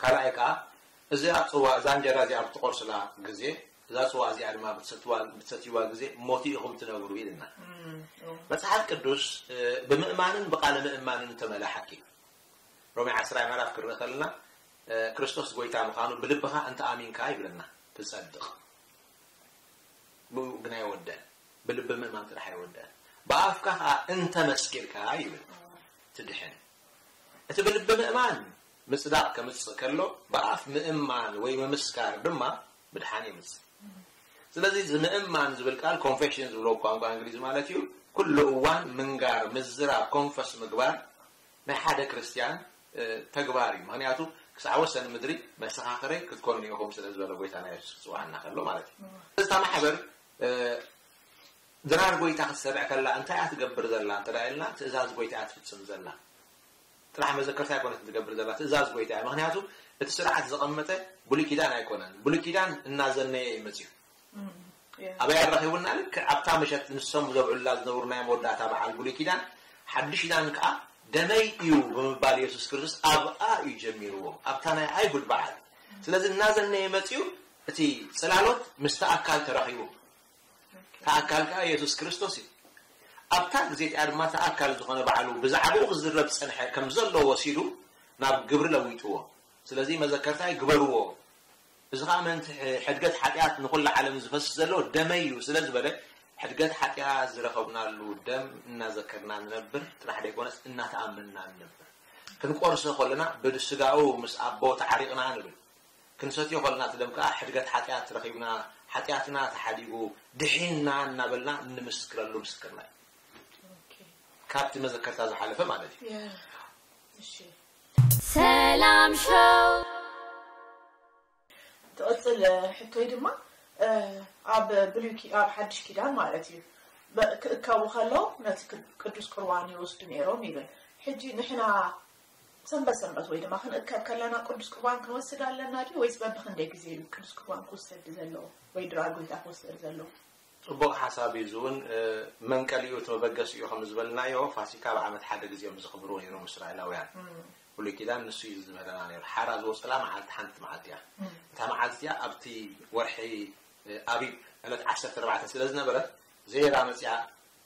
ካልኣይ ከኣ እዚኣ ጽዋ፣ እዛ እንጀራ እዚኣ ብትቆርስላ ግዜ፣ እዛ ጽዋ እዚኣ ድማ ብትሰትዋ-፣ ብትሰትይዋ ግዜ ሞቱ ኢኹም ትነብሩ ኢልና። እም፣ እዎ። መጽሓፍ ቅዱስ፣ እ፣ ብምእማንን ብቃለ ምእማንን እተመልኣ ሓቂ እዩ። ሮሜ ዓስራይ ምዕራፍ ክርኢ ከለና፣ እ፣ ክርስቶስ ጎይታ ምዃኑ ብልብኻ እንተ ኣሚንካ ይብለና፣ ትጸድቕ። ብኡ ግን ኣይወደን። ብልቢ ምእማን ጥራሕ ኣይወደን። ብኣፍካ ኸኣ እንተ መስኪርካ ይብል፣ ትድሕን። እቲ ብልቢ ምእማን ምጽዳቕ ከምጽእ ከሎ፣ ብኣፍ ምእማን ወይ ምምስካር ድማ ምድሓን የምጽእ። ስለዚ እዚ ምእማን ዝብል ቃል ኮንፌሽን ዝብሎ ቋንቋ እንግሊዝ ማለት እዩ። ኩሉ እዋን ምንጋር፣ ምዝራብ፣ ኮንፈስ ምግባር ናይ ሓደ ክርስትያን፣ እ፣ ተግባር እዩ። ምኽንያቱ ክሳዕ ወሰን ምድሪ መሰኻኽረይ ክትኮኑ ኢኹም ስለ ዝበለ ጎይታና የሱስ ክጽውዓና ከሎ ማለት እዩ። እታ ማሕበር፣ እ፣ ድራር ጎይታ ክትሰርዕ ከላ እንታይ እያ ትገብር ዘላ እንተ ደኣ ኢልና፣ ትእዛዝ ጎይታ እያ ትፍጽም ዘላ። ጥራሕ መዘከርታ ኣይኮነትን ትገብር ዘላ፣ ትእዛዝ ጎይታ እያ። ምኽንያቱ እቲ ስርዓት ዘቐመጠ ብሉይ ኪዳን ኣይኮነን። ብሉይ ኪዳን እናዘነየ እዩ መጺኡ። እም፣ ያ። ኣበይ ኣረኺቡና? ልክዕ ኣብታ ምሸት ንሶም ዘብዕሉላ ዝነበሩ ናይ መወዳእታ በዓል ብሉይ ኪዳን፣ ሓድሽ ኪዳን ከኣ ደመይ እዩ ብምባል የሱስ ክርስቶስ ኣብኣ እዩ ጀሚርዎ፣ ኣብታ ናይ ኣይሁድ በዓል። ስለዚ እናዘነየ መጺኡ እቲ ጽላሎት ምስቲ ኣካል ተራኺቡ። ኦኬ። እቲ ኣካል ከኣ የሱስ ክርስቶስ እዩ። ኣብታ ግዜ እቲኣ ድማ እቲ ኣካል ዝኾነ ባዕሉ ብዛዕባኡ ክዝረብ ዝጸንሐ ከም ዘሎ ወሲዱ ናብ ግብሪ ለዊጥዎ። ስለዚ መዘከርታይ ግበርዎ። እዚ ኸኣ ምእንቲ ሕ-፣ ሕድገት ሓጢኣት ንኹላ ዓለም ዝፈስስ ዘሎ ደመይ እዩ ስለ ዝበለ፣ ሕድገት ሓጢኣት ዝረኸብናሉ ደም እናዘከርና ንነብር ጥራሕ ደይኮነስ እናተኣመንና ንነብር። ክንቆርሶ ከለና ብስጋኡ ምስ ኣቦ ተዓሪቕና ንብል። ክንሰትዮ ከለና እቲ ደም ከኣ ሕድገት ሓጢኣት ረኺብና፣ ሓጢኣትና ተሓዲጉ፣ ድሒንና እናበልና እንምስክረሉ ምስክርና እዩ። ኦኬ። ካብቲ መዘከርታ ዝሓለፈ ማለት እዩ። ያ። እሺ። ሰላም ሾው። ትቕጽል ሕቶይ ድማ፣ እ፣ ኣብ ብሉይ ኪ-፣ ኣብ ሓድሽ ኪዳን ማለት እዩ። በ-፣ ክእከቡ ከለዉ ነቲ ቅ-፣ ቅዱስ ቁርባን ይወስዱ ነይሮም ይብል። ሕጂ ንሕና ሰንበት ሰንበት ወይ ድማ ክንእከብ ከለና ቅዱስ ቁርባን ክንወስድ ኣለና ድዩ? ወይስ በብኽንደይ ግዜ እዩ ቅዱስ ቁርባን ክውሰድ ዘለዎ ወይ ድራር ጎይታ ክውሰድ ዘለዎ? ጽቡቕ ሓሳብ እዩ። እዚ እውን፣ እ፣ መንቀሊኡ እቲ መበገሲኡ ከም ዝበልናዮ፣ ፋሲካ ኣብ ዓመት ሓደ ግዜ እዮም ዘኽብርዎ ነይሮም እስራኤላውያን። እም። ብሉይ ኪዳን ንሱ እዩ ዝምህረና ነይሩ። ሓራ ዝወጸላ መዓልቲ ሓንቲ መዓልቲ እያ። እም። እታ መዓልቲ እቲኣ ኣብቲ ወርሒ፣ እ፣ ኣቢብ ዕለት ዓሰርተ ኣርባዕተ ስለ ዝነበረት፣ ዜራ መጺኣ፣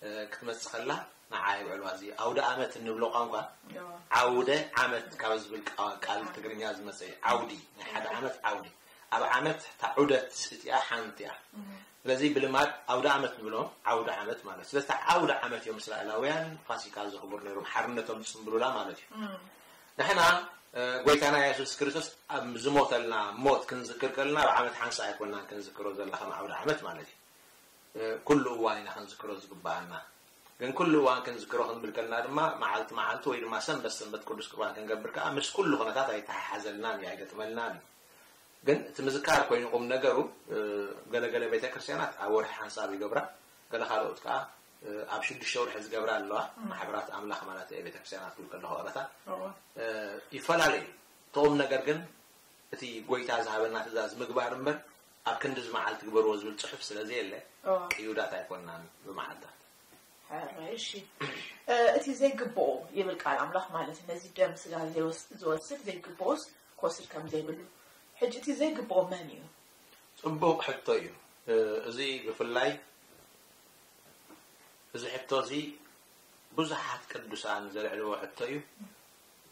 እ፣ ክትመጽእ ከላ ንዓ የብዕልዋ። እዚ ኣውደ ኣመት እንብሎ ቋንቋ፣ እዎ። ዓውደ ዓመት ካብ ዝብል ቃ-፣ ቃል ትግርኛ ዝመጸ እዩ። ዓውዲ፣ ናይ ሓደ ዓመት ዓውዲ። ኣብ ዓመት እታ ዑደት እቲኣ ሓንቲ እያ። እም። ስለዚ ብልማድ ኣውደ ኣመት ንብሎ፣ ዓውደ ዓመት ማለት። ስለዚ እታ ዓውደ ዓመት እዮም እስራኤላውያን ፋሲካ ዘኽብሩ ነይሮም፣ ሓርነቶም ዝጽንብሉላ ማለት እዩ። እም። ንሕና ጎይታና የሱስ ክርስቶስ ኣብ ዝሞተልና ሞት ክንዝክር ከለና ኣብ ዓመት ሓንሳ ኣይኮናን ክንዝክሮ ዘለና ከም ዓውደ ዓመት ማለት እዩ። ኩሉ እዋን ኢና ክንዝክሮ ዝግባኣና። ግን ኩሉ እዋን ክንዝክሮ ክንብል ከለና ድማ መዓልቲ መዓልቲ ወይ ድማ ሰንበት ሰንበት ቅዱስ ቁርባን ክንገብር ከዓ ምስ ኩሉ ኩነታት ኣይተሓሓዘልናን እዩ ኣይገጥመልናን እዩ። ግን እቲ ምዝካር ኮይኑ ቁም ነገሩ ገለገለ ቤተክርስትያናት ኣብ ወርሒ ሓንሳብ ይገብራ፣ ገለ ካልኦት ከዓ ኣብ ሽዱሽተ ወርሒ ዝገብራ ኣለዋ። ማሕበራት ኣምላኽ ማለት እየ፣ ቤተክርስትያናት ክብል ከለኹ ኣባታ ይፈላለዩ። እቲ ቁም ነገር ግን እቲ ጎይታ ዝሃበና ትእዛዝ ምግባር እምበር ኣብ ክንዲ እዚ መዓልቲ ግበርዎ ዝብል ፅሑፍ ስለ ዘየለ ቅዩዳት ኣይኮንናን ብመዓልታት። ሕራይ እሺ። እቲ ዘይግብኦ ይብል ቃል ኣምላኽ ማለት እዩ። ነዚ ደም ስጋ ዝወስድ ዘይግብኦስ ክወስድ ከም ዘይብሉ። ሕጂ እቲ ዘይግብኦ መን እዩ? ፅቡቕ ሕቶ እዩ። እዚ ብፍላይ እዚ ሕቶ እዚ ብዙሓት ቅዱሳን ዘልዕልዎ ሕቶ እዩ።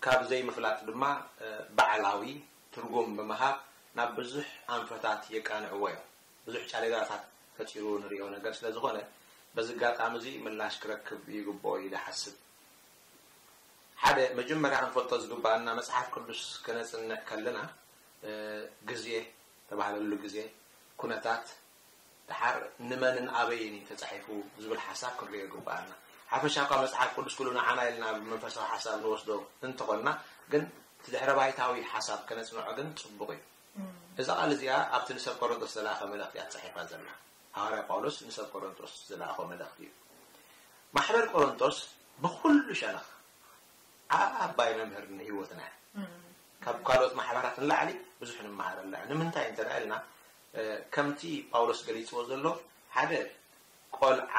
ካብ ዘይምፍላጥ ድማ ባዕላዊ ትርጉም ብምሃብ ናብ ብዙሕ ኣንፈታት የቃንዕዎ እዮም። ብዙሕ ጫሌዳታት ፈጢሩ ንሪኦ ነገር ስለ ዝኾነ በዚ ኣጋጣሚ እዚ ምላሽ ክረክብ ይግብኦ ኢለ ሓስብ። ሓደ መጀመርያ ክንፈልጦ ዝግባኣና መፅሓፍ ቅዱስ ከነፅንዕ ከለና ግዜ ተባህለሉ ግዜ፣ ኩነታት፣ ድሓር ንመንን ኣበይን እዩ ተፃሒፉ ዝብል ሓሳብ ክንሪኦ ይግባኣና። ሓፈሻ እኳ መፅሓፍ ቅዱስ ኩሉ ንዓና ኢልና ብመንፈሳዊ ሓሳብ ንወስዶ እንተኾንና ግን እቲ ድሕረ ባይታዊ ሓሳብ ከነፅንዖ ግን ፅቡቕ እዩ። እዛ ቃል እዚኣ ኣብቲ ንሰብ ቆሮንቶስ ዝለኣኸ መልእኽቲ እያ ተፃሒፋ ዘላ። ሃዋርያ ጳውሎስ ንሰብ ቆሮንቶስ ዝለኣኾ መልእኽቲ እዩ። ማሕበር ቆሮንቶስ ብኩሉ ሸነኽ ዓባይ መምህር ንህይወትና እያ። ካብ ካልኦት ማሕበራት ንላዕሊ ብዙሕ ንምሃረላ እያ። ንምንታይ እንተ ኢልና ከምቲ ጳውሎስ ገሊፅዎ ዘሎ ሓደ ቆልዓ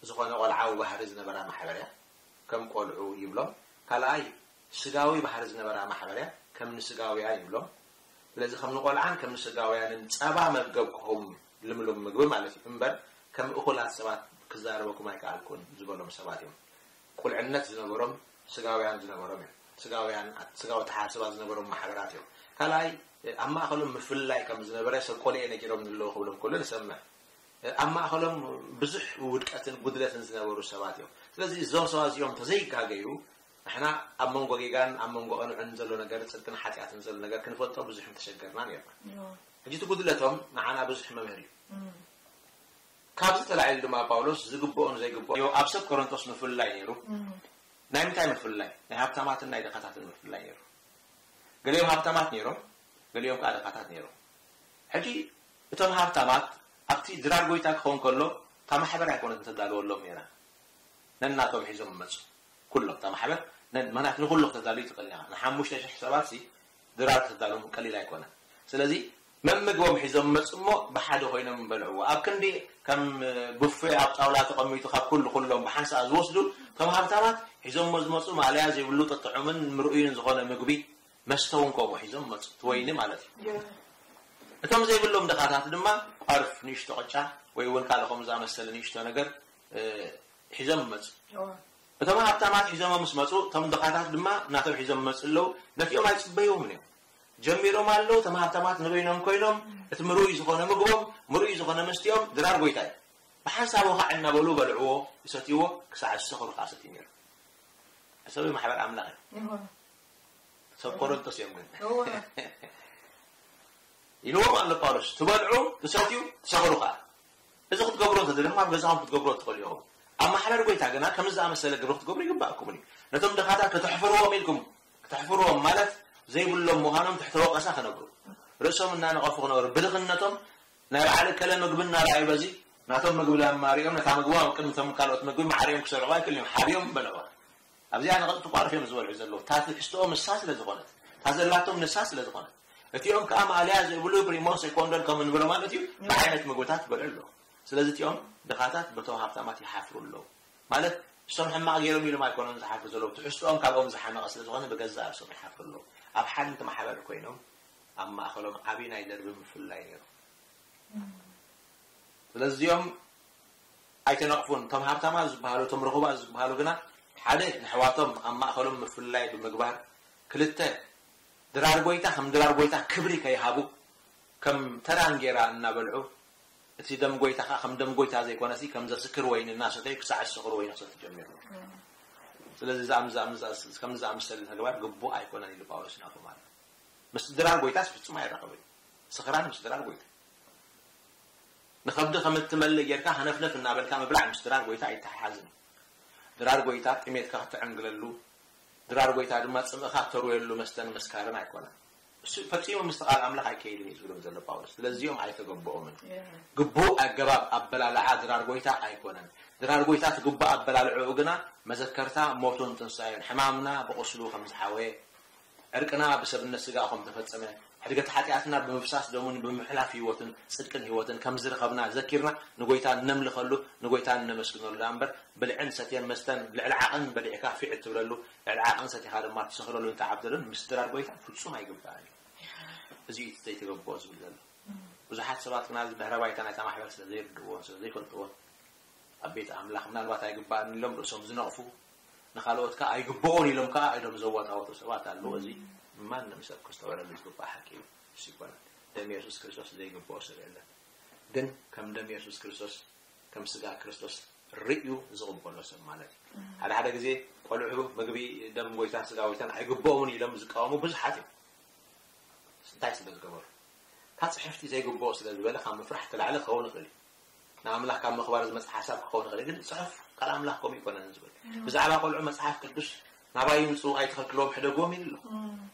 ዝኾነ ቆልዓዊ ባህሪ ዝነበራ ማሕበር እያ። ከም ቆልዑ ይብሎም። ካልኣይ ስጋዊ ባህሪ ዝነበራ ማሕበር እያ። ከም ንስጋውያን ይብሎም። ስለዚ ከም ንቆልዓን ከም ንስጋውያንን ጸባ መገብክኹም ልምሉም ምግቢ ማለት እዩ እምበር ከም እኹላት ሰባት ክዛረበኩም ኣይከኣልኩን ዝበሎም ሰባት እዮም። ቁልዕነት ዝነበሮም ስጋውያን ዝነበሮም እዮም። ስጋውያን ስጋዊ ተሓስባ ዝነበሮም ማሕበራት እዮም። ካልኣይ ኣብ ማእኸሎም ምፍልላይ ከም ዝነበረ ሰብ ቆልኤ ነጊሮም ንለዉ ክብሎም ከሎ ንሰምዕ። ኣብ ማእኸሎም ብዙሕ ውድቀትን ጉድለትን ዝነበሩ ሰባት እዮም። ስለዚ እዞም ሰባት እዚኦም ተዘይጋገዩ ንሕና ኣብ መንጎ ጌጋን ኣብ መንጎ ቅኑዕን ዘሎ ነገር፣ ጽድቅን ሓጢኣትን ዘሎ ነገር ክንፈልጦ ብዙሕ ምተሸገርና ነርና። ሕጂ እቲ ጉድለቶም ንዓና ብዙሕ መምህር እዩ። ካብዚ ተላዒሉ ድማ ጳውሎስ ዝግብኦን ዘይግብኦን ኣብ ሰብ ቆሮንቶስ ምፍልላይ ነይሩ። ናይ ምንታይ ምፍልላይ? ናይ ሃብታማትን ናይ ድኻታትን ምፍልላይ ነይሩ። ገሊኦም ሃብታማት ነይሮም፣ ገሊኦም ከዓ ድኻታት ነይሮም። ሕጂ እቶም ሃብታማት ኣብቲ ድራር ጎይታ ክኸውን ከሎ እታ ማሕበር ኣይኮነትን ተዳልወሎም ነይራ። ነናቶም ሒዞም መፁ። ኩሎም እታ ማሕበር ነን መናት ንኩሉ ክተዳልዩ ትኽእል ኢኻ። ንሓሙሽተ ሽሕ ሰባት ሲ ድራር ክተዳልዎም ቀሊል ኣይኮነን። ስለዚ መምግቦም ሒዞም መፁ እሞ ብሓደ ኮይኖም በልዕዎ። ኣብ ክንዲ ከም ቡፌ ኣብ ጣውላ ተቐሚጡ ካብ ኩሉ ኩሎም ብሓንሳእ ዝወስዱ እቶም ሃብታማት ሒዞሞ ዝመፁ ማእለያ ዘይብሉ ጥጥዑምን ምርኡይን ዝኾነ ምግቢ መስተ እውን ከምኡ ሒዞም መፁ። እቲ ወይኒ ማለት እዩ። እቶም ዘይብሎም ድኻታት ድማ ቋርፍ ንእሽቶ ቅጫ ወይ እውን ካልእ ከምኡ ዝኣመሰለ ንእሽቶ ነገር ሒዞም ይመፁ። እቶም ሃብታማት ሒዞሞ ምስ መፁ እቶም ድኻታት ድማ ናቶም ሒዞም ይመፁ ኣለዉ። ነቲኦም ኣይፅበይዎምን እዮም። ጀሚሮም ኣለዉ። እቶም ሃብታማት ንበይኖም ኮይኖም እቲ ምርኡይ ዝኾነ ምግቦም፣ ምርኡይ ዝኾነ መስትኦም ድራር ጎይታ እዩ። ብሓንሳብ ወኻዕ እናበሉ በልዕዎ፣ ይሰትይዎ ክሳዕ ዝሰኽሩ ከዓ ሰትዩ ነይሩ። ሕሰቢ ማሕበር ኣምላኽ እዩ። ሰብ ቆሮንቶስ እዮም ግን ኢልዎም ኣሎ ጳውሎስ። ትበልዑ ትሰትዩ ትሰኽሩ ከዓ። እዚ ክትገብሮ እንተደለኹም ኣብ ገዛኹም ክትገብሮ ትኽእሉ ኢኹም። ኣብ ማሕበር ጎይታ ግና ከምዚ ዝኣመሰለ ግብሪ ክትገብሩ ይግባእኩምን እዩ። ነቶም ድኻታት ከተሕፍርዎም ኢልኩም፣ ከተሕፍርዎም ማለት ዘይብሎም ምዃኖም ትሕተ ወቐሳ ክነብሩ፣ ርእሶም እናነቐፉ ክነብሩ፣ ብድኽነቶም ናይ በዓል እከለ ምግቢ እናረኣዩ በዚ ናቶም ምግቢ ለማሪኦም ነታ ምግቦም ኣብ ቅድሚ እቶም ካልኦት ምግቢ ማዕሪኦም ክሰርዑ ኣይክእሉን እዮም። ሓቢኦም በልዑ። ኣብዚኣ ንቐጥቲ ቋርፍ እዮም ዝበልዑ ዘለዉ። እታ ትሕዝትኦም ንሳ ስለ ዝኾነት፣ እታ ዘላቶም ንሳ ስለ ዝኾነት፣ እቲኦም ከዓ ማእለያ ዘይብሉ ፕሪሞን ሴኮንዶን ከም እንብሎ ማለት እዩ ብዓይነት ምግብታት ይበልዑ ኣለዉ። ስለዚ እቲኦም ድኻታት በቶም ሃብታማት ይሓፍሩ ኣለዉ። ማለት እሶም ሕማቕ ገይሮም ኢሎም ኣይኮኑን ዝሓፍሩ ዘለዉ፣ ትሕዝትኦም ካብኦም ዝሓመቐ ስለ ዝኾነ ብገዛእ ርእሶም ይሓፍሩ ኣለዉ። ኣብ ሓንቲ ማሕበር ኮይኖም ኣብ ማእኸሎም ዓብዪ ናይ ደርቢ ምፍልላይ ነይሩ። ስለዚ እዚኦም ኣይተነቕፉን። እቶም ሃብታማት ዝበሃሉ እቶም ርኹባት ዝበሃሉ ግና ሓደ ንሕዋቶም ኣብ ማእኸሎም ምፍልላይ ብምግባር፣ ክልተ ድራር ጎይታ ከም ድራር ጎይታ ክብሪ ከይሃቡ ከም ተራ እንጌራ እናበልዑ እቲ ደም ጎይታ ከዓ ከም ደም ጎይታ ዘይኮነሲ ከም ዘስክር ወይኒ እናሰተዩ ክሳዕ ዝሰኽሩ ወይኒ ክሰቲ ጀሚሮም። ስለዚ ዝኣም- ዝኣም- ከምዚ ዝኣመሰለ ተግባር ግቡእ ኣይኮነን ኢሉ ጳውሎስ ናብ ሮማውያን። ምስ ድራር ጎይታስ ፍጹም ኣይራኸብን። ስኽራን ምስ ድራር ጎይታ። ንኸብዲ ከም እትመልእ ጌርካ ሃነፍነፍ እናበልካ ምብላዕ ምስ ድራር ጎይታ ኣይተሓሓዝን። ድራር ጎይታ ጥሜትካ ክትዕንግለሉ፣ ድራር ጎይታ ድማ ጽምእኻ ተርወየሉ መስተን መስካርን ኣይኮነን። እሱ ፈጺሙ ምስቲ ቃል ኣምላኽ ኣይከይድን እዩ ዝብሎም ዘሎ ጳውሎስ። ስለዚኦም ኣይተገበኦምን። ግቡእ ኣገባብ ኣበላልዓ ድራር ጎይታ ኣይኮነን። ድራር ጎይታ እቲ ግቡእ ኣበላልዕኡ ግና መዘከርታ ሞቱን ትንሳኤን፣ ሕማምና ብቑስሉ ከም ዝሓወየ፣ ዕርቅና ብሰብነት ስጋ ከም ተፈጸመ፣ ሕድገት ሓጢኣትና ብምፍሳስ ደሙን ብምሕላፍ ህይወትን ጽድቅን ህይወትን ከም ዝረኸብና ዘኪርና ንጎይታ እነምልኸሉ፣ ንጎይታ እነመስግነሉ ደኣ እምበር ብልዕን ሰትየን መስተን ልዕሊ ዓቕን በሊዕካ ፊዕ እትብለሉ፣ ልዕሊ ዓቕን ሰቲኻ ድማ ትሰኽረሉን ትዓብደሉን ምስ ድራር ጎይታ ፍጹም ኣይግባእን እዩ። እዚ እዩ እቲ ዘይተገብኦ ዝብል ዘሎ። ብዙሓት ሰባት ግና እዚ ድሕረ ባይታ ናይታ ማሕበር ስለ ዘይርድእዎን ስለ ዘይፈልጥዎን ኣብ ቤት ኣምላኽ ምናልባት ኣይግባእን ኢሎም ርእሶም ዝነቕፉ፣ ንኻልኦት ከኣ ኣይግብኦን ኢሎም ከኣ ኢዶም ዘወጣወጡ ሰባት ኣለዉ። እዚ ማንም ሰብ ከስተውዕለሉ ዝግባእ ሓቂ እዩ። እሱ ይኮነ ደም የሱስ ክርስቶስ ዘይግብኦ ሰብ የለን። ግን ከም ደም የሱስ ክርስቶስ ከም ስጋ ክርስቶስ ርእዩ ዝቕበሎ ሰብ ማለት እዩ። ሓደ ሓደ ግዜ ቆልዑ ምግቢ ደም ጎይታን ስጋ ጎይታን ኣይግብኦምን ኢሎም ዝቃወሙ ብዙሓት እዮም። እንታይ ስለ ዝገበሩ? ካብ ጽሕፍቲ ዘይግብኦ ስለ ዝበለ ካብ ምፍራሕ ተላዕለ ክኸውን ይኽእል እዩ። ንኣምላኽ ካብ ምኽባር ዝመጽእ ሓሳብ ክኸውን ይኽእል እዩ። ግን ጽሑፍ ቃል ኣምላኽ ከምኡ ይኮነን ዝብል። ብዛዕባ ቆልዑ መጽሓፍ ቅዱስ ናባይ ይምጽኡ ኣይትኸልክልዎም ሕደግዎም ኢሉ ኣሎ።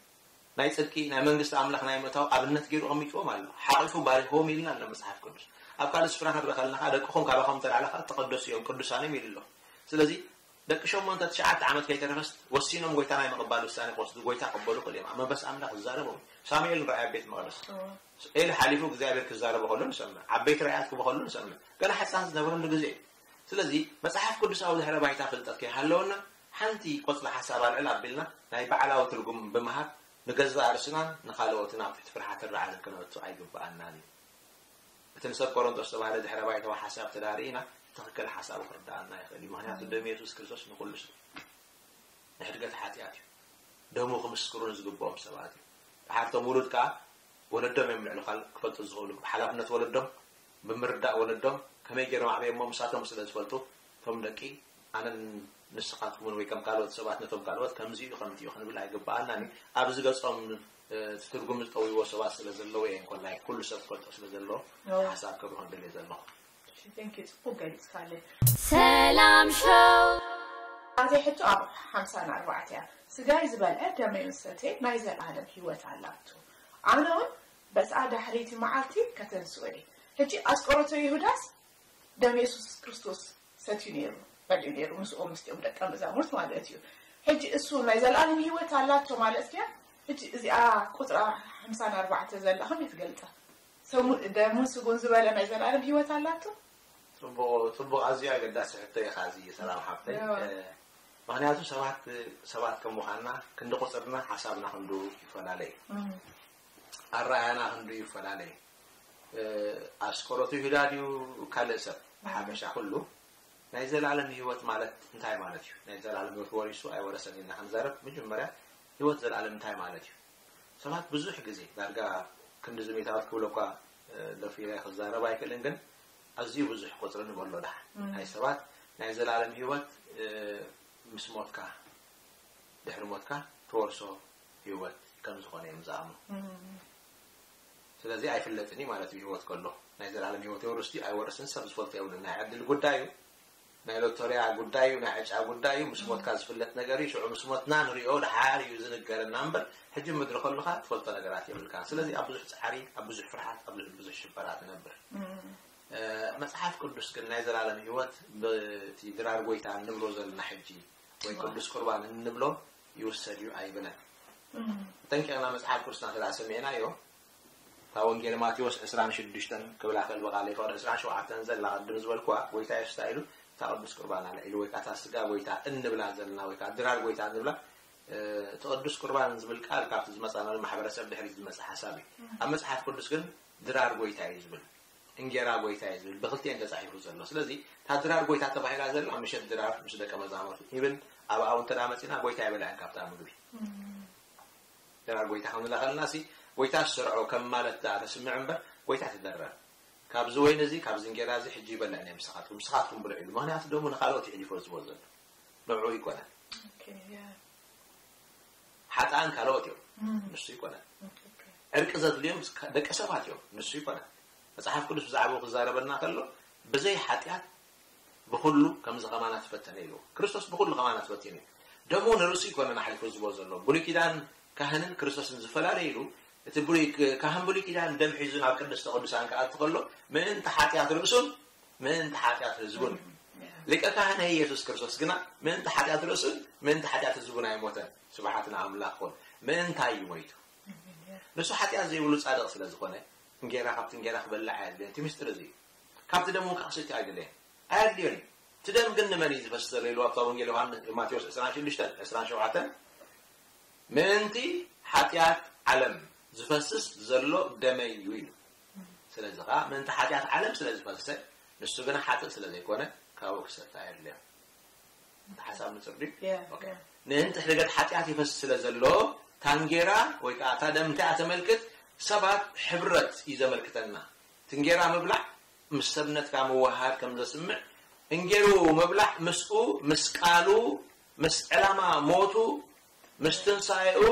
ናይ ጽድቂ ናይ መንግስቲ ኣምላኽ ናይ ምእታው ኣብነት ገይሩ ኣቐሚጥዎም ኣሎ። ሓቒፉ ባሪኽዎም ኢልና ኣሎ መጽሓፍ ቅዱስ። ኣብ ካልእ ስፍራ ክንረኸልና ከኣ ደቅኹም ካባኹም ተላዕለ ከኣ ተቐደሱ እዮም ቅዱሳን እዮም ኢሉ ኣሎ። ስለዚ ደቂ ሸሞንተ ትሽዓተ ዓመት ከይተረፈስ ወሲኖም ጎይታ ናይ ምቕባል ውሳኔ ክወስዱ ጎይታ ክቕበሉ ክእል እዮም። ኣብ መንፈስ ኣምላኽ ዝዛረቦም ሳሙኤል ንረኣይ ኣብ ቤት መቕደስ ኤሊ ሓሊፉ እግዚኣብሔር ክዛረቦ ከሎ ንሰምዕ። ዓበይቲ ራእያት ክቦ ከሎ ንሰምዕ። ገና ሕፃን ዝነበረሉ ግዜ እዩ። ስለዚ መጽሓፍ ቅዱሳዊ ድሕረ ባይታ ፍልጠት ከይሃለወና ሓንቲ ቆጽሊ ሓሳብ ኣልዕል ኣቢልና ናይ ባዕላዊ ትርጉም ብምሃብ ንገዛእ ርእስናን ንኻልኦትን ኣብ ትሕቲ ፍርሓትን ራዕድን ክነእቱ ኣይግብኣናን እዩ። እቲ ንሰብ ቆሮንቶስ ዝተባህለ ድሕረ ባይታዊ ሓሳብ ተዳሪእና ትኽክል ሓሳቡ ክርዳኣና ይኽእል እዩ። ምኽንያቱ ደም የሱስ ክርስቶስ ንኹሉ ሰብ ንሕድገት ሓጢኣት እዩ። ደሙ ክምስክሩ ንዝግብኦም ሰባት እዩ። ድሓርቶም ውሉድ ከኣ ወለዶም እዮም ልዕሊ ካልእ ክፈልጡ ዝኽእሉ። ብሓላፍነት ወለዶም፣ ብምርዳእ ወለዶም ከመይ ገይሮም ኣዕበየሞ ምሳቶም ስለ ዝፈልጡ እቶም ደቂ ኣነን ንስኻትኩምን ወይ ከም ካልኦት ሰባት ነቶም ካልኦት ከምዚ እዩ ከምቲ እዩ ክንብል ኣይግብኣናን እዩ። ኣብዚ ገጾም እቲ ትርጉም ዝጠውይዎ ሰባት ስለ ዘለዉ እየ እንኮላይ ኩሉ ሰብ ክፈልጦ ስለ ዘለዎ ሓሳብ ከብርሆ ደልየ ዘለኹ። ጽቡቅ ገሊጽካለ። ሰላም ሾው ኣዜ ሕቶ ኣብ ሓምሳን ኣርባዕተ እያ። ስጋይ ዝበልዐ ደመይ ዝሰትየ ናይ ዘለኣለም ህይወት ኣላቶ። ኣነ እውን በስኣ ዳሕረይቲ መዓልቲ ከተንስኦ እየ። ሕጂ ኣስቆሮቶ ይሁዳስ ደም የሱስ ክርስቶስ ሰትዩ ነይሩ በልዑ ነይሩ ምስኦም ምስኦም ደቀ መዛሙርት ማለት እዩ። ሕጂ እሱ ናይ ዘለኣለም ህይወት ኣላቶ ማለት ድያ? ሕጂ እዚኣ ቁፅራ ሓምሳን ኣርባዕተ ዘላ ከመይ ትገልፃ? ሰሙ ደሙን ስጉን ዝበለ ናይ ዘለኣለም ህይወት ኣላቶ? ጽቡቕ ጽቡቕ ኣዝዩ ኣገዳሲ ሕቶ ኢኻ እዚ ሰላም ሓፍተይ። ምኽንያቱ ሰባት ሰባት ከም ምዃንና ክንዲ ቁፅርና ሓሳብና ክንዱ ይፈላለ እዩ። ኣረኣያና ክንዱ ይፈላለ እዩ። ኣስቆሮቱ ይሁዳ ድዩ ካልእ ሰብ ብሓፈሻ ኩሉ ናይ ዘላለም ህይወት ማለት እንታይ ማለት እዩ? ናይ ዘላለም ህይወት ወሪሱ ኣይወረሰን ኢልና ክንዛረብ መጀመርያ ህይወት ዘላለም እንታይ ማለት እዩ? ሰባት ብዙሕ ግዜ ዳርጋ ክንዲ ዝሜታወት ክብሎ እኳ ደፊረ ክዛረብ ኣይክእልን፣ ግን ኣዝዩ ብዙሕ ቁፅሪ ንበሎ ደሓን ናይ ሰባት ናይ ዘላለም ህይወት ምስ ሞትካ ድሕሪ ሞትካ ትወርሶ ህይወት ከም ዝኾነ እዮም ዝኣምኑ። ስለዚ ኣይፍለጥን እዩ ማለት እዩ። ህይወት ከሎ ናይ ዘላለም ህይወት የወርስ ድዩ ኣይወርስን ሰብ ዝፈልጦ የብሉን። ናይ ዕድል ጉዳይ እዩ፣ ናይ ሎቶርያ ጉዳይ እዩ፣ ናይ ዕጫ ጉዳይ እዩ። ምስ ሞትካ ዝፍለጥ ነገር እዩ። ሽዑ ምስ ሞትና ንሪኦ ድሓር እዩ ዝንገረና እምበር ሕጂ ምድሪ ከለኻ ትፈልጦ ነገራት የብልካን። ስለዚ ኣብ ብዙሕ ፃዕሪ፣ ኣብ ብዙሕ ፍርሓት፣ ኣብ ልዕሊ ብዙሕ ሽበራ ትነብር። መፅሓፍ ቅዱስ ግን ናይ ዘላለም ህይወት በቲ ድራር ጎይታ እንብሎ ዘለና ሕጂ ወይ ቅዱስ ቁርባን እንብሎ ይውሰድ እዩ ኣይብለን። ጠንቂቕና መፅሓፍ ቅዱስና እንተ ሰሚዕናዮ እታ ወንጌል ማቴዎስ ዕስራን ሽዱሽተን ክብላ ከል ብቓለይ ፍቕዲ ዕስራን ሸውዓተን ዘላ ቅድም ዝበልኩዋ ጎይታ የሱስ እንታይ ኢሉ እታ ቅዱስ ቁርባን ኣልዒሉ ወይ ከዓ እታ ስጋ ጎይታ እንብላ ዘለና ወይ ከዓ ድራር ጎይታ እንብላ እቲ ቅዱስ ቁርባን ዝብል ቃል ካብቲ ዝመፃናሉ ማሕበረሰብ ድሕሪት ዝመፀ ሓሳብ እዩ። ኣብ መፅሓፍ ቅዱስ ግን ድራር ጎይታ እዩ ዝብል። እንጌራ ጎይታ እዩ ዝብል ብክልቲኤን ተፃሒፉ ዘሎ። ስለዚ እታ ድራር ጎይታ ተባሂላ ዘላ ምሸት ድራር ምስ ደቀ መዛሙርቱ ኢብን ኣብኣ እውን እንተ መፂና ጎይታ ኣይበልዐን ካብታ ምግቢ። ድራር ጎይታ ከም ዝለኸልና ሲ ጎይታ ዝሰርዖ ከም ማለት ዳ ተስምዕ እምበር ጎይታ ትደረር። ካብዚ ወይን እዚ ካብዚ እንጌራ እዚ ሕጂ ይበልዕን እየ ምሳኻትኩም፣ ምሳኻትኩም ብልዑ ኢሉ። ምክንያቱ ደሙ ንካልኦት እዩ ሕሊፎ ዝቦ ዘሎ ንዕኡ ይኮነን። Okay, yeah. ሓጥኣን ካልኦት እዮም፣ Mm. ንሱ ይኮነን። Okay. ዕርቂ ዘድልዮም ደቂ ሰባት እዮም፣ ንሱ ይኮነን። መጽሓፍ ቅዱስ ብዛዕባኡ ክዛረበና ከሎ፣ ብዘይ ሓጢኣት ብኹሉ ከምዚ ከማና ትፈተነ ኢሉ። ክርስቶስ ብኹሉ ከማና ትፈቲኑ እዩ። ደሙ ንርእሱ ይኮነን ኣሕሊፉ ዝቦ ዘሎ። ብሉይ ኪዳን ካህንን ክርስቶስን ዝፈላለ ኢሉ፣ እቲ ብሉይ ካህን ብሉይ ኪዳን ደም ሒዙ ናብ ቅድስተ ቅዱሳን ክኣቱ ከሎ፣ ምእንቲ ሓጢኣት ርእሱን ምእንቲ ሓጢኣት ህዝቡን እዩ። Yeah. ሊቀ ካህን ኢየሱስ ክርስቶስ ግና ምእንቲ ሓጢኣት ርእሱን ምእንቲ ሓጢኣት ህዝቡን ኣይሞተን። ስብሓት ንኣምላኽ ኮን። ምእንታይ እዩ ሞይቱ? Yeah. ንሱ ሓጢኣት ዘይብሉ ጻድቕ ስለ ዝኾነ፣ እንጌራ ካብቲ እንጌራ ክበልዕ ኣየድልዮን። እቲ ምስጢር እዚ እዩ። ካብቲ ደም እውን ክሰቲ ኣይደለየን፣ ኣየድልዮን እዩ። እቲ ደም ግን ንመን እዩ ዝፈስስ ዘሎ ኢሉ ኣብታ ወንጌል ዮሃንስ፣ ማቴዎስ ዕስራን ሽዱሽተን ዕስራን ሸውዓተን፣ ምእንቲ ሓጢኣት ዓለም ዝፈስስ ዘሎ ደመይ እዩ ኢሉ። ስለዚ ከዓ ምእንቲ ሓጢኣት ዓለም ስለ ዝፈሰሰ፣ ንሱ ግና ሓጥእ ስለ ዘይኮነ፣ ካብኡ ክሰቲ ኣየድልዮን። እቲ ሓሳብ ንጹር ድዩ? Yeah, ኦኬ። yeah. ምእንቲ ሕደገት ሓጢኣት ይፈስስ ስለ ዘሎ፣ ታንጌራ ወይ ከዓ እታ ደም እንታይ እያ ተመልክት? ሰባት ሕብረት እዩ ዘመልክተና። ትንጌራ ምብላዕ ምስ ሰብነትካ ምውሃድ ከም ዘስምዕ፣ እንጌሩ ምብላዕ ምስኡ፣ ምስ ቃሉ፣ ምስ ዕላማ ሞቱ፣ ምስ ትንሳኤኡ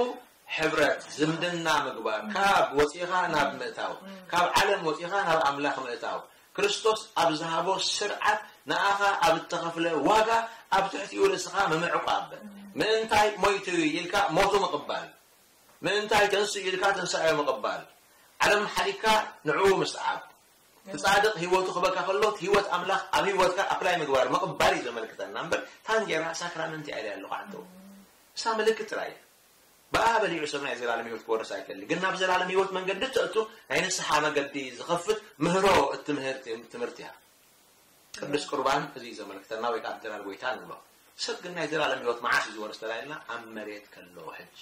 ሕብረት፣ ዝምድና ምግባር፣ ካብ ወፂኻ ናብ ምእታው፣ ካብ ዓለም ወፂኻ ናብ ኣምላኽ ምእታው፣ ክርስቶስ ኣብ ዝሃቦ ስርዓት ንኣኻ ኣብ እተኸፍለ ዋጋ ኣብ ትሕቲኡ ርእስኻ ምምዕቋብ። ምእንታይ ሞይቱ ኢልካ ሞቱ ምቕባል፣ ምእንታይ ተንስኡ ኢልካ ትንሳኤ ምቕባል፣ ዓለም ሓሊካ ንዕኡ ምስዓብ። እቲ ጻድቕ ህይወቱ ክበካ ከሎ፣ እቲ ህይወት ኣምላኽ ኣብ ህይወትካ ኣፕላይ ምግባር ምቕባል እዩ ዘመልክተና እምበር፣ ታንጌራ ሳክራመንት እያ ኢለ ኣለኹ ዓንተው። እሳ ምልክት ጥራይ እያ። ብኣ በሊዑ ሰብ ናይ ዘላለም ህይወት ክወርስ ኣይክእል። ግን ናብ ዘላለም ህይወት መንገዲ እተእቱ ናይ ንስሓ መገዲ ዝኸፍት ምህሮ እትምህር ትምህርቲ እያ። ቅዱስ ቁርባን እዚ እዩ ዘመልክተና፣ ወይ ከዓ ምድራር ጎይታ ንብሎ። ሰብ ግን ናይ ዘላለም ህይወት መዓስ እዩ ዝወርስ ተላኢልና? ኣብ መሬት ከሎ ሕጂ።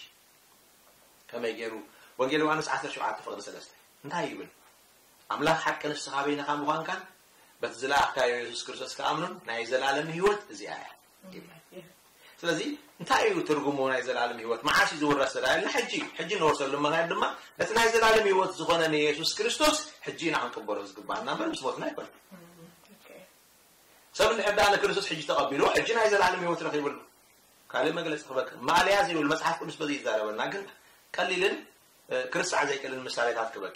ከመይ ገይሩ? ወንጌል ዮሃንስ ዓሰርተ ሸውዓተ ፍቕዲ ሰለስተ እንታይ ይብል? ኣምላኽ ሓቂ ንስኻ በይንኻ ምዃንካን በቲ ዝለኣኽካዮ የሱስ ክርስቶስ ክኣምኑን ናይ ዘላለም ህይወት እዚኣ እያ ይብል። ስለዚ እንታይ እዩ ትርጉሙ ናይ ዘላለም ህይወት? መዓስ እዩ ዝውረስ ተላኢልና? ሕጂ፣ ሕጂ ንወርሰሉ ምኽንያት ድማ ነቲ ናይ ዘላለም ህይወት ዝኾነ ንየሱስ ክርስቶስ ሕጂ ኢና ክንቅበሎ ዝግባኣና እምበር ምስ ሞትና ኣይኮነን። Okay. ሰብ እንድሕር ደኣ ንክርስቶስ ሕጂ ተቐቢልዎ፣ ሕጂ ናይ ዘላለም ህይወት ረኺቡ ኣሎ። ካልእ መግለጺ ክበቂ ማልያ ዘይብል መጽሓፍ ቅዱስ በዚ ይዛረበና፣ ግን ቀሊልን እ፣ ክርስዕ ዘይክእልን ምሳሌታት ክበቂ።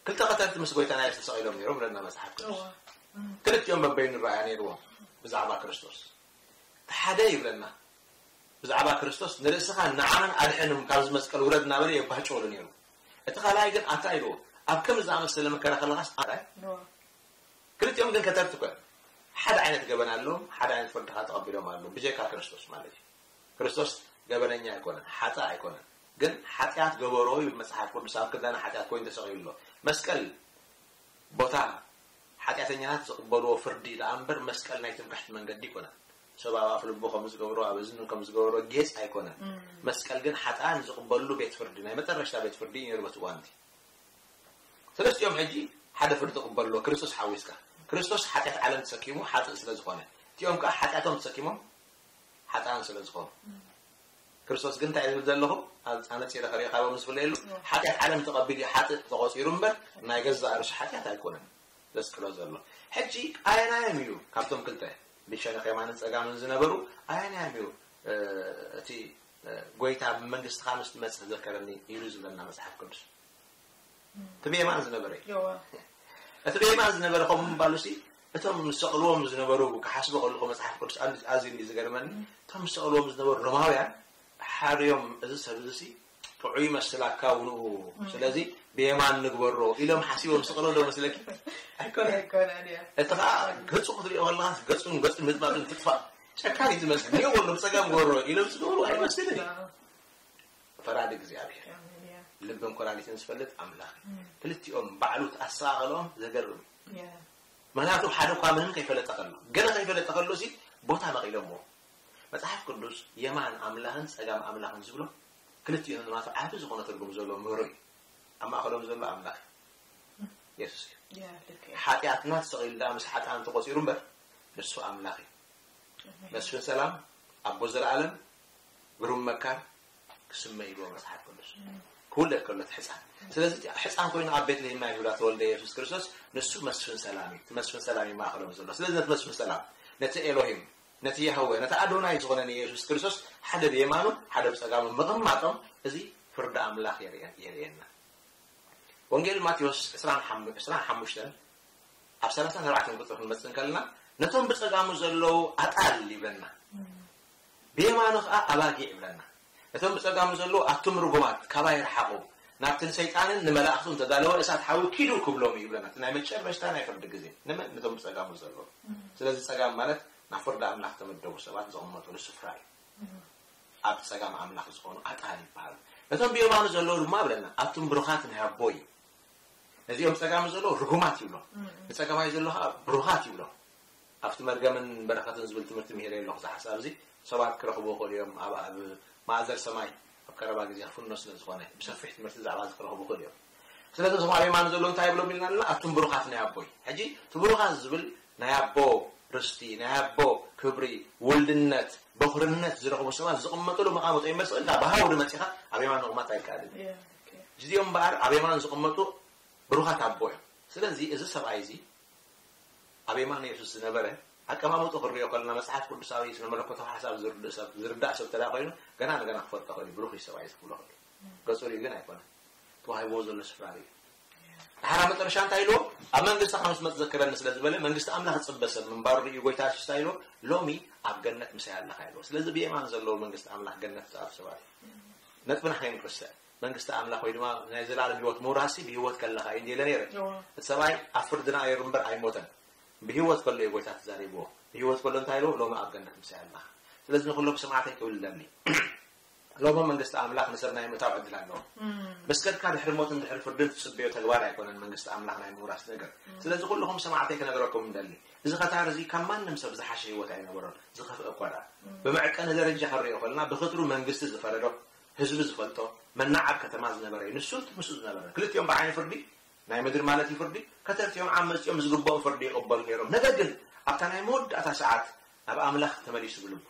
ክልተ ከተርቲ ምስ ጎይታና የሱስ ተሰቒሎም ነይሮም ብለና መጽሓፍ ቅዱስ። እዋ። ክልቲኦም በበይኑ ረኣያ ነይርዎም ብዛዕባ ክርስቶስ። እቲ ሓደ ይብለና ብዛዕባ ክርስቶስ፣ ንርእስኻ ንዓናን ኣድሕንም ካብዚ መስቀል ውረድ እናበለ የባጭወሉ ነይሩ። እቲ ካልኣይ ግን ኣታ ኢልዎ፣ ኣብ ከምዚ ዝኣመሰለ መከራ ከለኻስ ኣታ እዋ። ክልቲኦም ግን ከተርቲ ኮን ሓደ ዓይነት ገበን ኣለዎም፣ ሓደ ዓይነት ፍርዲ ከዓ ተቐቢሎም ኣለዉ ብጀካ ክርስቶስ ማለት እዩ። ክርስቶስ ገበነኛ ኣይኮነን፣ ሓጥእ ኣይኮነን። ግን ሓጢኣት ገበሮ ይብል መጽሓፍ ቅዱስ፣ ኣብ ክዳን ሓጢኣት ኮይኑ ተሰቒሉ ኣሎ። መስቀል ቦታ ሓጢኣተኛታት ዝቕበልዎ ፍርዲ ደኣ እምበር መስቀል ናይ ትምክሕቲ መንገዲ ኣይኮነን። ሰብ ኣብ ኣፍ ልቡ ከም ዝገብሮ ኣብ እዝኑ ከም ዝገብሮ ጌጽ ኣይኮነን። መስቀል ግን ሓጥኣን ዝቕበልሉ ቤት ፍርዲ፣ ናይ መጠረሽታ ቤት ፍርዲ እዩ ነይሩ በቲ እዋን እቲ። ሰለስቲኦም ሕጂ ሓደ ፍርዲ ክቕበሉ ኣለዎ፣ ክርስቶስ ሓዊስካ። ክርስቶስ ሓጢኣት ዓለም ተሰኪሙ ሓጥእ ስለ ዝኾነ፣ እቲኦም ከኣ ሓጢኣቶም ተሰኪሞም ሓጥኣን ስለ ዝኾኑ። ክርስቶስ ግን እንታይ ዝብል ዘለኹ? ኣብ ኣነጺረ ከሪእኻዎም ዝፍለየሉ፣ ሓጢኣት ዓለም ተቐቢሉ ሓጥእ ተቖጺሩ እምበር ናይ ገዛእ ርእሱ ሓጢኣት ኣይኮነን ዘስቅሎ ዘሎ። ሕጂ ኣየናዮም እዩ ካብቶም ክልተ ብሸነኽ የማንን ጸጋምን ዝነበሩ ኣየናዮም እዩ፣ እ፣ እቲ፣ እ፣ ጎይታ ብመንግስትኻ ምስ ትመጽእ ዘከረኒ ኢሉ ዝብለና መጽሓፍ ቅዱስ? እቲ ብየማን ዝነበረ እዩ። እዋ። እቲ ብየማን ዝነበረ ከምኡ ምባሉ ሲ እቶም ዝሰቕልዎም ዝነበሩ ክሓስቦ ከለኹ መጽሓፍ ቅዱስ ኣዝ- ኣዝዩ እንዲ ዝገርመኒ፣ እቶም ዝሰቕልዎም ዝነበሩ ሮማውያን ሓርዮም እዚ ሰብ እዚ ሲ ጥዑይ መስላካ ውንኡ፣ ስለዚ ብየማን ንግበሮ ኢሎም ሓሲቦም ዝሰቕሎ ዶ መስለኪ? ኣይኮነን። ኣይኮነን እያ። እቲ ኸዓ ገጹ ክትሪኦ ከለኻ ገጹን ገጹን ምጥማጥን ትጥፋእ ጨካን እዩ ዝመስል። ንዮ ወሎ ብጸጋም ግበሮ ኢሎም ዝገብሩ ኣይመስልን እዩ። ፈራዲ እግዚኣብሔር ኣሜን እያ። ልብን ኮላሊትን ዝፈልጥ ኣምላኽ እዩ። ክልቲኦም ባዕሉ ኣሰቓቕሎም ዘገርም እዩ። እያ። ምክንያቱ ሓደ እኳ ምንም ከይፈለጠ ከሎ ገለ ከይፈለጠ ከሎ ሲ ቦታ መቒሎምዎ። መጽሓፍ ቅዱስ የማን ኣምላኽን ጸጋም ኣምላኽን ዝብሎ ክልቲኡ ንማቱ ዓቢ ዝኾነ ትርጉም ዘለዎ ምህሮ እዩ። ኣብ ማእኸሎም ዘሎ ኣምላኽ እዩ። የሱስ እዩ። እያ፣ ልክ እያ። ሓጢኣትና ተሰቒሉ ደኣ ምስ ሓጥኣን ተቖጺሩ እምበር ንሱ ኣምላኽ እዩ። መስፍን ሰላም፣ ኣቦ ዘለኣለም፣ ግሩም መካር ክስመ ይብሎ መጽሓፍ ቅዱስ። ክውለድ ከሎ እቲ ሕፃን። ስለዚ እቲ ሕፃን ኮይኑ ኣብ ቤትልሄም ናይ ይሁዳ ተወልደ የሱስ ክርስቶስ ንሱ መስፍን ሰላም እዩ። እቲ መስፍን ሰላም እዩ ማእኸሎም ዘሎ። ስለዚ ነቲ መስፍን ሰላም፣ ነቲ ኤሎሂም፣ ነቲ የህወ ነቲ ኣዶናይ ዝኾነ ንየሱስ ክርስቶስ ሓደ ብየማኑ ሓደ ብጸጋሙ ምቕማጦም እዚ ፍርዲ ኣምላኽ የርእየና። ወንጌል ማቴዎስ ዕስራን ሓሙሽተን ኣብ ሰላሳን ኣርባዕተን ቁፅሪ ክንመፅእ እንከለና ነቶም ብፀጋሙ ዘለዉ ኣጣል ይብለና፣ ብየማኑ ከዓ ኣባጊዕ ይብለና። እቶም ብፀጋሙ ዘለዉ ኣቱም ርጉማት ካባይ ርሓቑ፣ ናብቲ ንሰይጣንን ንመላእኽቱን ተዳለወ እሳት ሓዊ ኪዱ ክብሎም እዩ ይብለና። እቲ ናይ መጨረሽታ ናይ ፍርዲ ግዜ ንመን? ነቶም ብፀጋሙ ዘለዉ። ስለዚ ፀጋም ማለት ናብ ፍርዲ ኣምላኽ ተመደቡ ሰባት ዝቕመጡሉ ስፍራ እዩ። ኣብ ፀጋም ኣምላኽ ዝኾኑ ኣጣል ይበሃሉ። ነቶም ብየማኑ ዘለዉ ድማ ብለና ኣቱም ብሩኻት ናይ ኣቦይ። ነዚኦም ፀጋሙ ዘለዉ ርጉማት ይብሎም፣ ንፀጋማይ ዘለዉ ከዓ ብሩኻት ይብሎም። ኣብቲ መርገምን በረኸትን ዝብል ትምህርቲ ምሂረ ኣለኹ። እዚ ሓሳብ እዚ ሰባት ክረኽቡ ይኽእሉ እዮም። ኣብ ኣብ ማእዘር ሰማይ ኣብ ቀረባ ግዜ ክፍኖ ስለ ዝኾነ ብሰፊሕ ትምህርቲ ዛዕባ እዚ ክረኽቡ ይኽእሉ እዮም። ስለዚ እዞም ኣብ የማኑ ዘለዉ እንታይ ይብሎም ኢልና ኣለና? ኣቱም ብሩኻት ናይ ኣቦይ። ሕጂ እቲ ብሩኻት ዝብል ናይ ኣቦ ርስቲ፣ ናይ ኣቦ ክብሪ፣ ውልድነት፣ በኹርነት ዝረኽቡ ሰባት ዝቕመጥሉ መቓመጦ ይመስል። እንዳ ብሃውዲ መፂኻ ኣብ የማን ምቕማጥ ኣይከኣልን። እዚኦም እምበኣር ኣብ የማን ዝቕመጡ ብሩኻት ኣቦ እዮም። ስለዚ እዚ ሰብኣይ እዚ ኣብ የማን የሱስ ዝነበረ ኣቀማምጡ ክንሪኦ ከለና መጽሓፍ ቅዱሳዊ ስነ መለኮታዊ ሓሳብ ዝርዳእ ሰብ ዝርዳእ ሰብ ተዳ ኮይኑ ገና ንገና ክፈልጦ ኸእል ብሩኽ እዩ ሰብኣይ ዝብሎ ኸእል ገጹ ሪኡ ግን ኣይኮነ ተዋሂብዎ ዘሎ ስፍራ ሪኡ ድሓራ መጠረሻ እንታይ ኢልዎ ኣብ መንግስቲ ካብ ዝመፅ ዘክረኒ ስለ ዝበለ መንግስቲ ኣምላኽ ዝፅበ ሰብ ምንባሩ ሪኡ ጎይታ የሱስ እንታይ ኢልዎ ሎሚ ኣብ ገነት ምሳይ ኣለኻ ኢልዎ ስለዚ ብየማን ዘለዎ መንግስቲ ኣምላኽ ገነት ዝኣቱ ሰባት እዩ ነጥብና ከይንርስዕ መንግስቲ ኣምላኽ ወይ ድማ ናይ ዘላለም ህይወት ምውራሲ ብህይወት ከለኻ እዩ እንዲለ ነይረ እቲ ሰብኣይ ኣብ ፍርዲ ነይሩ እምበር ኣይሞተን ብህይወት ከሎ እዩ ጎይታ ተዛሪብዎ ብህይወት ከሎ እንታይ ኢልዎ ሎሚ ኣብ ገነት ምሳይ ኣለኻ ስለዚ ንኩሎም ሰማዕተይ ክብል ደሊ ሎሚ መንግስቲ ኣምላኽ ንሰብ ናይ ምእታው ዕድል ኣለዎ። ምስ ከድካ ድሕሪ ሞትን ድሕሪ ፍርድን ትጽበዮ ተግባር ኣይኮነን መንግስቲ ኣምላኽ ናይ ምውራስ ነገር። ስለዚ ኩልኹም ሰማዕተይ ክነግረኩም እንደሊ፣ እዚ ኸታር እዚ ካብ ማንም ሰብ ዝሓሸ ህይወት ኣይነበሮን፣ ዝኸፍአ እኳ ደኣ። ብመዕቀኒ ደረጃ ክንሪኦ ከለና ብኽትሩ መንግስቲ ዝፈረዶ፣ ህዝቢ ዝፈልጦ፣ መናዓብ ከተማ ዝነበረ እዩ። ንሱ እቲ ምስኡ ዝነበረ። ክልቲኦም ብዓይኒ ፍርዲ ናይ ምድሪ ማለት እዩ ፍርዲ፣ ከተርቲኦም ዓመፅኦም ዝግብኦም ፍርዲ ይቕበሉ ነይሮም። ነገር ግን ኣብታ ናይ መወዳእታ ሰዓት ናብ ኣምላኽ ተመሊሱ ብልቡ።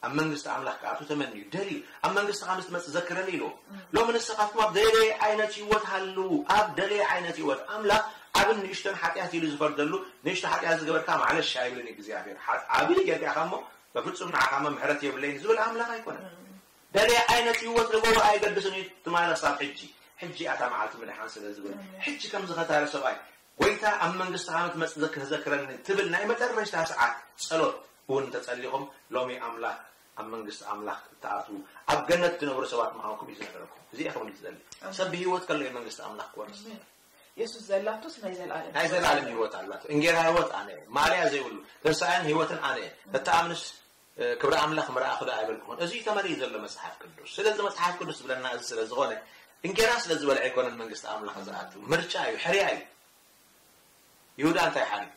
ኣብ መንግስቲ ኣምላኽ ክኣቱ ተመንዩ ደልዩ ኣብ መንግስቲ ከም ዝመጽእ ዘክረኒ ኢልዎ ሎሚ ንስኻትኩም ኣብ ደለየ ዓይነት ህይወት ሃልዉ ኣብ ደለየ ዓይነት ህይወት ኣምላኽ ዓብን ንእሽቶን ሓጢኣት ኢሉ ዝፈርደሉ ንእሽቶ ሓጢኣት ዝገበርካ ማዕለሻ ኣይብልን እግዚኣብሔር ዓብይ ጌርካ ኢኻ እሞ በፍጹም ንዓኻ እሞ ምሕረት የብለይን ዝብል ኣምላኽ ኣይኮነን ደለየ ዓይነት ህይወት ንጎቦ ኣይገድስን እዩ ትማለ ክሳብ ሕጂ ሕጂ ኣታ መዓልቲ ምድሓን ስለ ዝብል ሕጂ ከም ዝኸታረ ሰብኣይ ጎይታ ኣብ መንግስቲ ዓመት መጽእ ዘክህ ዘክረኒ ትብል ናይ መጨረሽታ ሰዓት ጸሎት እውን እንተጸሊኹም ሎሚ ኣምላኽ ኣብ መንግስቲ ኣምላኽ እትኣትዉ ኣብ ገነት ትነብሩ ሰባት ምዃንኩም እዩ ዝነገረኩም። እዚ እየ ክብል ዝደሊ። ሰብ ብህይወት ከሎ እዩ መንግስቲ ኣምላኽ ክወርስ። የሱስ ዘላቶስ ናይ ዘላለም ናይ ዘላለም ህይወት ኣላቶ። እንጌራ ህይወት ኣነ እየ። ማልያ ዘይብሉ ተንሳኣን ህይወትን ኣነ እየ። ተተኣምንስ ክብሪ ኣምላኽ ምርኣኹ ዶ ኣይበልኩኹን። እዚ እዩ ተመሪኡ ዘሎ መጽሓፍ ቅዱስ። ስለዚ መጽሓፍ ቅዱስ ዝብለና እዚ ስለ ዝኾነ እንጌራ ስለ ዝበልዐ ኣይኮነን መንግስቲ ኣምላኽ ዝኣቱ። ምርጫ እዩ፣ ሕርያ እዩ። ይሁዳ እንታይ ሓርዩ?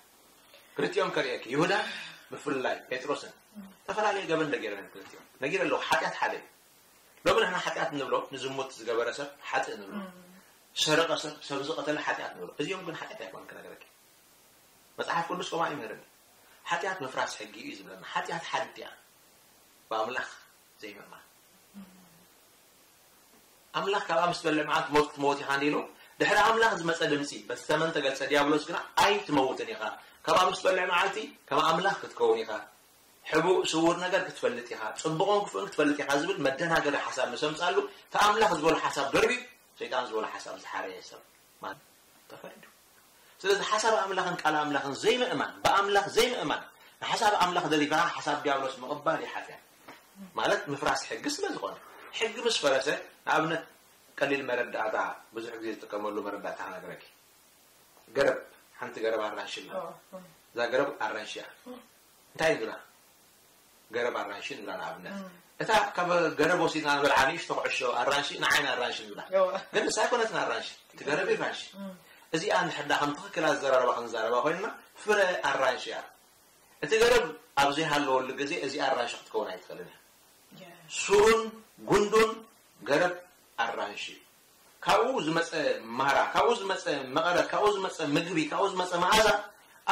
ክልቲኦም ከርእየኪ። ይሁዳ ብፍላይ ጴጥሮስን ዝተፈላለየ ገበን ዶ ገይሮም እዮም ክልቲኦም? ነጊረ ኣለኹ። ሓጢኣት ሓደ እዩ። ሎሚ ንሕና ሓጢኣት ንብሎ ንዝሙት ዝገበረ ሰብ ሓጥእ ንብሎ። ዝሰረቐ ሰብ፣ ሰብ ዝቐተለ ሓጢኣት ንብሎ። እዚኦም ግን ሓጢኣት ኣይኮነን ክነግረኪ። መጽሓፍ ቅዱስ ከምኡ ኣይምህርን። ሓጢኣት ምፍራስ ሕጊ እዩ ዝብለና። ሓጢኣት ሓንቲ እያ። ብኣምላኽ ዘይምእማን። ኣምላኽ ካብኣ ምስ ትበልዕ መዓልቲ ሞት ክትመውት ኢኻ እንዲሉ ድሕሪ ኣምላኽ ዝመጸ ድምጺ በቲ ተመን ተገልጸ ዲያብሎስ ግና ኣይትመውትን ኢኻ ካብኣ ምስ ትበልዕ መዓልቲ ከም ኣምላኽ ክትከውን ኢኻ ሕቡእ ስውር ነገር ክትፈልጥ ኢኻ ጽቡቕን ክፉእን ክትፈልጥ ኢኻ ዝብል መደናገሪ ሓሳብ ምስ ኣምጻሉ እቲ ኣምላኽ ዝበሎ ሓሳብ ደርቢዩ ሰይጣን ዝበሎ ሓሳብ ዝሓረየ ሰብ ማለት ተፈሪዱ ስለዚ ሓሳብ ኣምላኽን ቃል ኣምላኽን ዘይምእማን ብኣምላኽ ዘይምእማን ንሓሳብ ኣምላኽ ደሪፍኻ ሓሳብ ዲያብሎስ ምቕባል እዩ ሓጢኣት ማለት ምፍራስ ሕጊ ስለ ዝኾነ ሕጊ ምስ ፈረሰ ንኣብነት ቀሊል መረዳእታ ብዙሕ ግዜ ዝጥቀመሉ መረዳእታ ክነግረኪ ገረብ ሓንቲ ገረብ ኣራንሺ ኣላ እዛ ገረብ ኣራንሺ እያ እንታይ ንብላ ገረብ ኣራንሺ ንብላ ንኣብነት እታ ካብ ገረብ ወሲድና ንበልዓ ንእሽቶ ኩዕሾ ኣራንሺ ንዓይና ኣራንሺ ንብላ ግን ንሳ ኣይኮነትን ኣራንሺ እቲ ገረብ ኣራንሺ እዚኣ እንድሕር ዳ ከም ትኽክል ኣዘራርባ ክንዛረባ ኮይንና ፍረ ኣራንሺ እያ እቲ ገረብ ኣብ ዘይሃለወሉ ግዜ እዚኣ ኣራንሺ ክትከውን ኣይትኽእልን እያ ሱሩን ጉንዱን ገረብ ኣራንሺ እዩ ካብኡ ዝመፀ ማራ፣ ካብኡ ዝመፀ መቐረት፣ ካብኡ ዝመፀ ምግቢ፣ ካብኡ ዝመፀ መዓዛ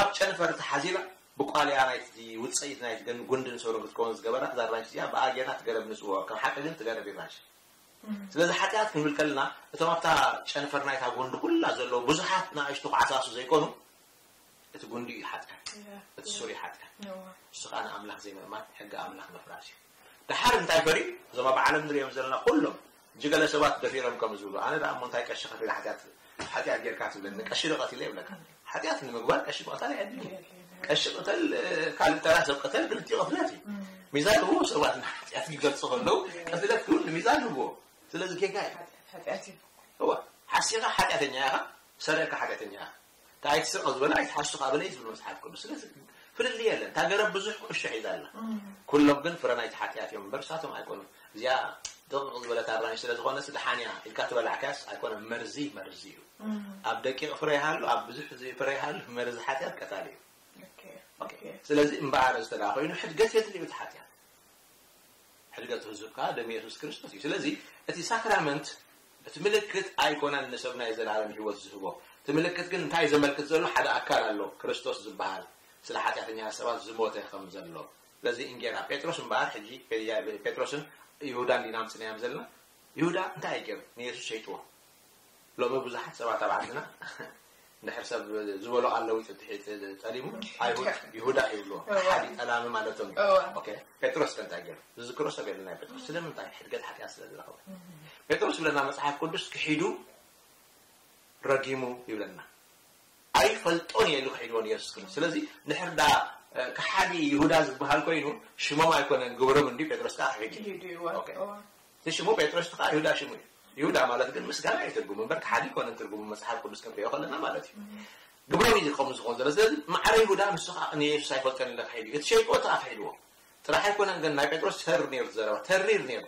ኣብ ጨንፈር ተሓዚላ ብቋልያ ናይቲ ውፅኢት ናይቲ ገን ጉንድን ሰሩን ክትከውን ዝገበራ እዛ ራንሽ እዚኣ ብኣ ጌርና ትገረብ ንፅውዖ። ከም ሓቂ ግን ትገረብ ራንሽ። ስለዚ ሓጢኣት ክንብል ከለና እቶም ኣብታ ጨንፈር ናይታ ጉንዲ ኩላ ዘለዉ ብዙሓት ንኣሽቱ ክዓሳሱ ዘይኮኑ እቲ ጉንዲ እዩ ሓጢኣት፣ እቲ ሱር እዩ ሓጢኣት። ንሱ ከዓ ንኣምላኽ ዘይምእማን፣ ሕጊ ኣምላኽ ምፍራስ እዩ። ደሓር እንታይ ፈሪዩ? እዞም ኣብ ዓለም ንሪኦም ዘለና ኩሎም፣ እጂ ገለ ሰባት ደፊሮም ከም ዝብሉ፣ ኣነ ደኣ እሞ እንታይ ቀሺ ከፊለ ሓጢኣት፣ ሓጢኣት ጌርካ ትብለኒ? ቀሺ ዶ ቀቲለ ይብለካ። ሓጢኣት ንምግባር ቀሺ ምቕታል ኣየድልን እዩ። ቀሺ ቅተል፣ ካልእ ተራ ሰብ ቅተል፣ ክልቲኡ ቅትለት እዩ። ሚዛን ህብዎ፣ ሰባት ንሓጢኣት ክገልጹ ከለዉ፣ ቅትለት ክብል ንሚዛን ህብዎ። ስለዚ ጌጋ እዩ። ሓጢኣት እዩ። እዋ፣ ሓሲኻ ሓጢኣተኛ ኢኻ፣ ሰሪቕካ ሓጢኣተኛ ኢኻ። እንታይ ኣይትስረቕ ዝበለ ኣይትሓሱ ከኣ በለ እዩ ዝብል መጽሓፍ ቅዱስ። ስለዚ ፍልልይ የለን። እታ ገረብ ብዙሕ ቁሾ ሒዛ ኣላ። ኩሎም ግን ፍረ ናይቲ ሓጢኣት እዮም እምበር ንሳቶም ኣይኮኑን። እዚኣ ድቕቕ ዝበለት ኣራንሽ ስለ ዝኾነስ ደሓን እያ ኢልካ ትበላዕካያስ ኣይኮነን። መርዚ መርዚ እዩ። ኣብ ደቂቕ ፍረ ይሃሉ፣ ኣብ ብዙሕ ፍረ ይሃሉ፣ መርዚ ሓጢኣት ቀታሊ እዩ። ኦኬ፣ ኦኬ። ስለዚ እምበኣር እዚ ተደኣ ኮይኑ ሕድገት የድልዩ እቲ ሓጢኣት። ሕድገት ህዝብ ከኣ ደም የሱስ ክርስቶስ እዩ። ስለዚ እቲ ሳክራመንት እቲ ምልክት ኣይኮነን ንሰብ ናይ ዘላለም ህይወት ዝህቦ። እቲ ምልክት ግን እንታይ ዘመልክት ዘሎ? ሓደ ኣካል ኣሎ፣ ክርስቶስ ዝበሃል ስለ ሓጢኣተኛ ሰባት ዝሞተ ከም ዘሎ። ስለዚ እንጌራ ጴጥሮስ እምበኣር ሕጂ ጴጥሮስን ይሁዳን ዲና ኣምጽናዮም ዘለና። ይሁዳ እንታይ እዩ ገይሩ? ንየሱስ ሸይጥዎ። ሎሚ ብዙሓት ሰባት ኣብ ዓድና እንድሕር ሰብ ዝበሎ ኣለዊጡ ትሕት ጠሊሙ ኣይሁድ ይሁዳ ይብልዎ። ሓዲ ጠላሚ ማለቶም እዩ። ኦኬ፣ ጴጥሮስ ከ እንታይ ገይሩ? ዝዝክሮ ሰብ የለን ናይ ጴጥሮስ። ስለምንታይ? ሕድገት ሓጢኣት ስለ ዝረኸበ። ጴጥሮስ ይብለና መጽሓፍ ቅዱስ ክሒዱ ረጊሙ ይብለና። ኣይፈልጦን እየ ኢሉ ክሒድዎ ንየሱስ ክርስቶስ። ስለዚ እንድሕር ዳ ከሓዲ ይሁዳ ዝበሃል ኮይኑ ሽሞም ኣይኮነን ግብሮም እንዲ ጴጥሮስ ከዓ ክሒዱ። ክሒዱ እዩ። ኦኬ። እቲ ሽሙ ጴጥሮስ ከዓ ይሁዳ ሽሙ እዩ። ይሁዳ ማለት ግን ምስጋና እዩ ትርጉሙ እምበር ከሓዲ ኣይኮነን ትርጉሙ መጽሓፍ ቅዱስ ክንሪኦ ከለና ማለት እዩ። ግብሮም እዩ ከምኡ ዝኾን ዘሎ። ስለዚ ማዕረ ይሁዳ ንሱ ከዓ ንየሱስ ኣይፈልጦን ኢለ ክሒዱ እዩ። እቲ ሸይጥዎ እቲ ከዓ ክሒድዎ ጥራሕ ኣይኮነን ግን ናይ ጴጥሮስ ተር ነይሩ ዘረባ ተሪር ነይሩ።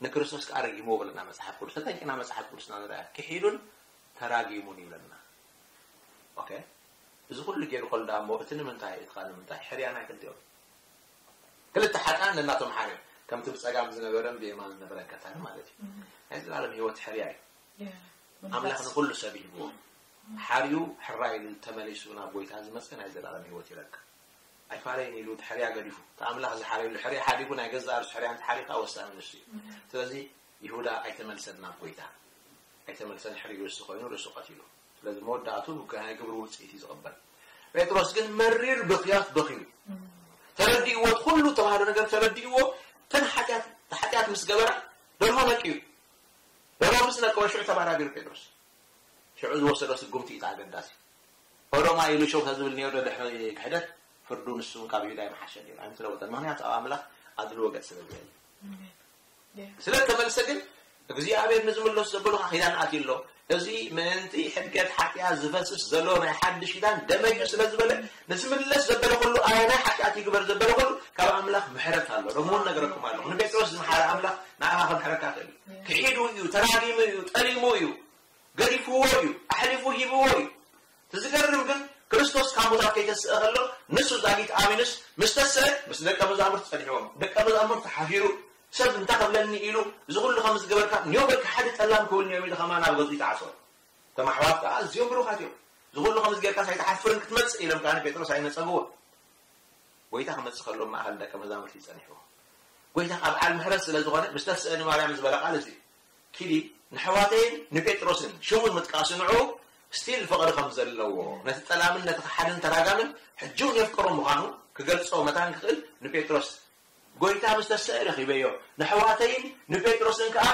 ንክርስቶስ ከዓ ረጊምዎ ብለና መጽሓፍ ቅዱስ። ተጠንቂና መጽሓፍ ቅዱስና ንርኣ። ክሒዱን ተራጊሙን ይብለና። ኦኬ፣ እዚ ኩሉ ገይሩ ከሎ ደኣ እሞ እቲ ንምንታይ እቲ ካልእ ንምንታይ ሕርያ ናይ ክልቲኦም ክልተ ሓጥኣን ነናቶም ሓርዮም ከምቲ ብጸጋም ዝነበረን ብየማን ዝነበረን ቀታሊ ማለት እዩ። ናይ ዘላለም ህይወት ሕርያ እዩ። ኣምላኽ ንኹሉ ሰብ ይህብዎ። ሓርዩ ሕራይ ኢሉ ተመሊሱ ናብ ጎይታ ዝመጸ ናይ ዘላለም ህይወት ይረክብ። ኣይፋለይን ኢሉ እቲ ሕርያ ገዲፉ እቲ ኣምላኽ ዝሓረየሉ ሕርያ ሓዲጉ ናይ ገዛእ ርእሱ ሕርያ እንተሓሪኻ ወሳኒ ንሱ እዩ። ስለዚ ይሁዳ ኣይተመልሰን ናብ ጎይታ ኣይተመልሰን ሕርዩ ርእሱ ኮይኑ ርእሱ ቀቲሉ። ስለዚ መወዳእቱ ናይ ግብሪ ውፅኢት እዩ ዝቕበል። ጴጥሮስ ግን መሪር ብኽያት በኽዩ። ተረዲእዎ፣ እቲ ኩሉ ተባህሎ ነገር ተረዲእዎ። ተን ሓጢኣት ምስ ገበራ ደርሆ ነቅዩ። ደርሆ ምስ ነቀወ ሽዑ ተባራቢሩ ጴጥሮስ። ሽዑ ዝወሰዶ ስጉምቲ እዩ ኣገዳሲ። ኦሮማ ኢሉ ሸው ተዝብል ነይሩ ድሕሪ ክሕደት ፍርዱ ንሱ እውን ካብ ይሁዳ ይመሓሸ ነይሩ። ኣይምተለወጠን። ምኽንያቱ ኣብ ኣምላኽ ኣድልዎ ገጽ ስለ ዘየለ። ስለ ተመልሰ ግን እግዚኣብሔር ንዝምለሱ ዘበሉካ ኪዳን ኣትዩ ኣሎ። እዚ ምእንቲ ሕድገት ሓጢኣት ዝፈስስ ዘሎ ናይ ሓድሽ ኪዳን ደመዩ ስለ ዝበለ ንዝምለስ ዘበለ ኩሉ ኣየናይ ሓጢኣት ይግበር ዘበለ ኩሉ ካብ ኣምላኽ ምሕረት ኣሎ። ሎሚ እውን ነገረኩም ኣለኹ። ንጴጥሮስ ዝመሓረ ኣምላኽ ንኣኻ ክምሕረካ ክእል እዩ። ክሒዱ እዩ፣ ተራጊሙ እዩ፣ ጠሊሙ እዩ፣ ገዲፍዎ እዩ፣ ኣሕሊፉ ሂብዎ እዩ። እቲ ዝገርም ግን ክርስቶስ ካብ ሙታት ከይተስእ ከሎ ንሱ ዛጊት ኣሚኑስ ምስ ተስአ ምስ ደቀ መዛሙርቲ ጸኒሕዎም። ደቀ መዛሙርቲ ሓፊሩ ሰብ እንታይ ክብለኒ ኢሉ እዚ ኩሉ ከም ዝገበርካ ኒዮ በልካ ሓደ ጠላም ክብል ኒዮም ኢሉ ከማን ኣብ ገጹ ይጠዓሶ። እቶም ኣሕዋት ከዓ ኣዝዮም ብሩኻት እዮም። እዚ ኩሉ ከም ዝገርካስ ኣይትሓፍርን ክትመጽእ ኢሎም ከዓ ንጴጥሮስ ኣይነጸግዎ። ጎይታ ክመጽእ ከሎ ማእኸል ደቀ መዛሙርቲ ይጸኒሕዎ። ጎይታ ከዓ በዓል ምሕረት ስለ ዝኾነ ምስ ተስአ ንማርያም ዝበለ ቃል እዚ እዩ። ኪዲ ንሕዋተይን ንጴጥሮስን ሽሙን ምጥቃሱ ንዑ ስቲል ፍቕሪ ከም ዘለዎ ነቲ ጠላምን ነቲ ከሓድን ተራጋምን ሕጂ እውን የፍቅሮ ምዃኑ ክገልጾ መታን ክኽእል ንጴጥሮስ ጎይታ ምስ ተስአ ረኺበዮ ንሕዋተይን ንጴጥሮስን ከዓ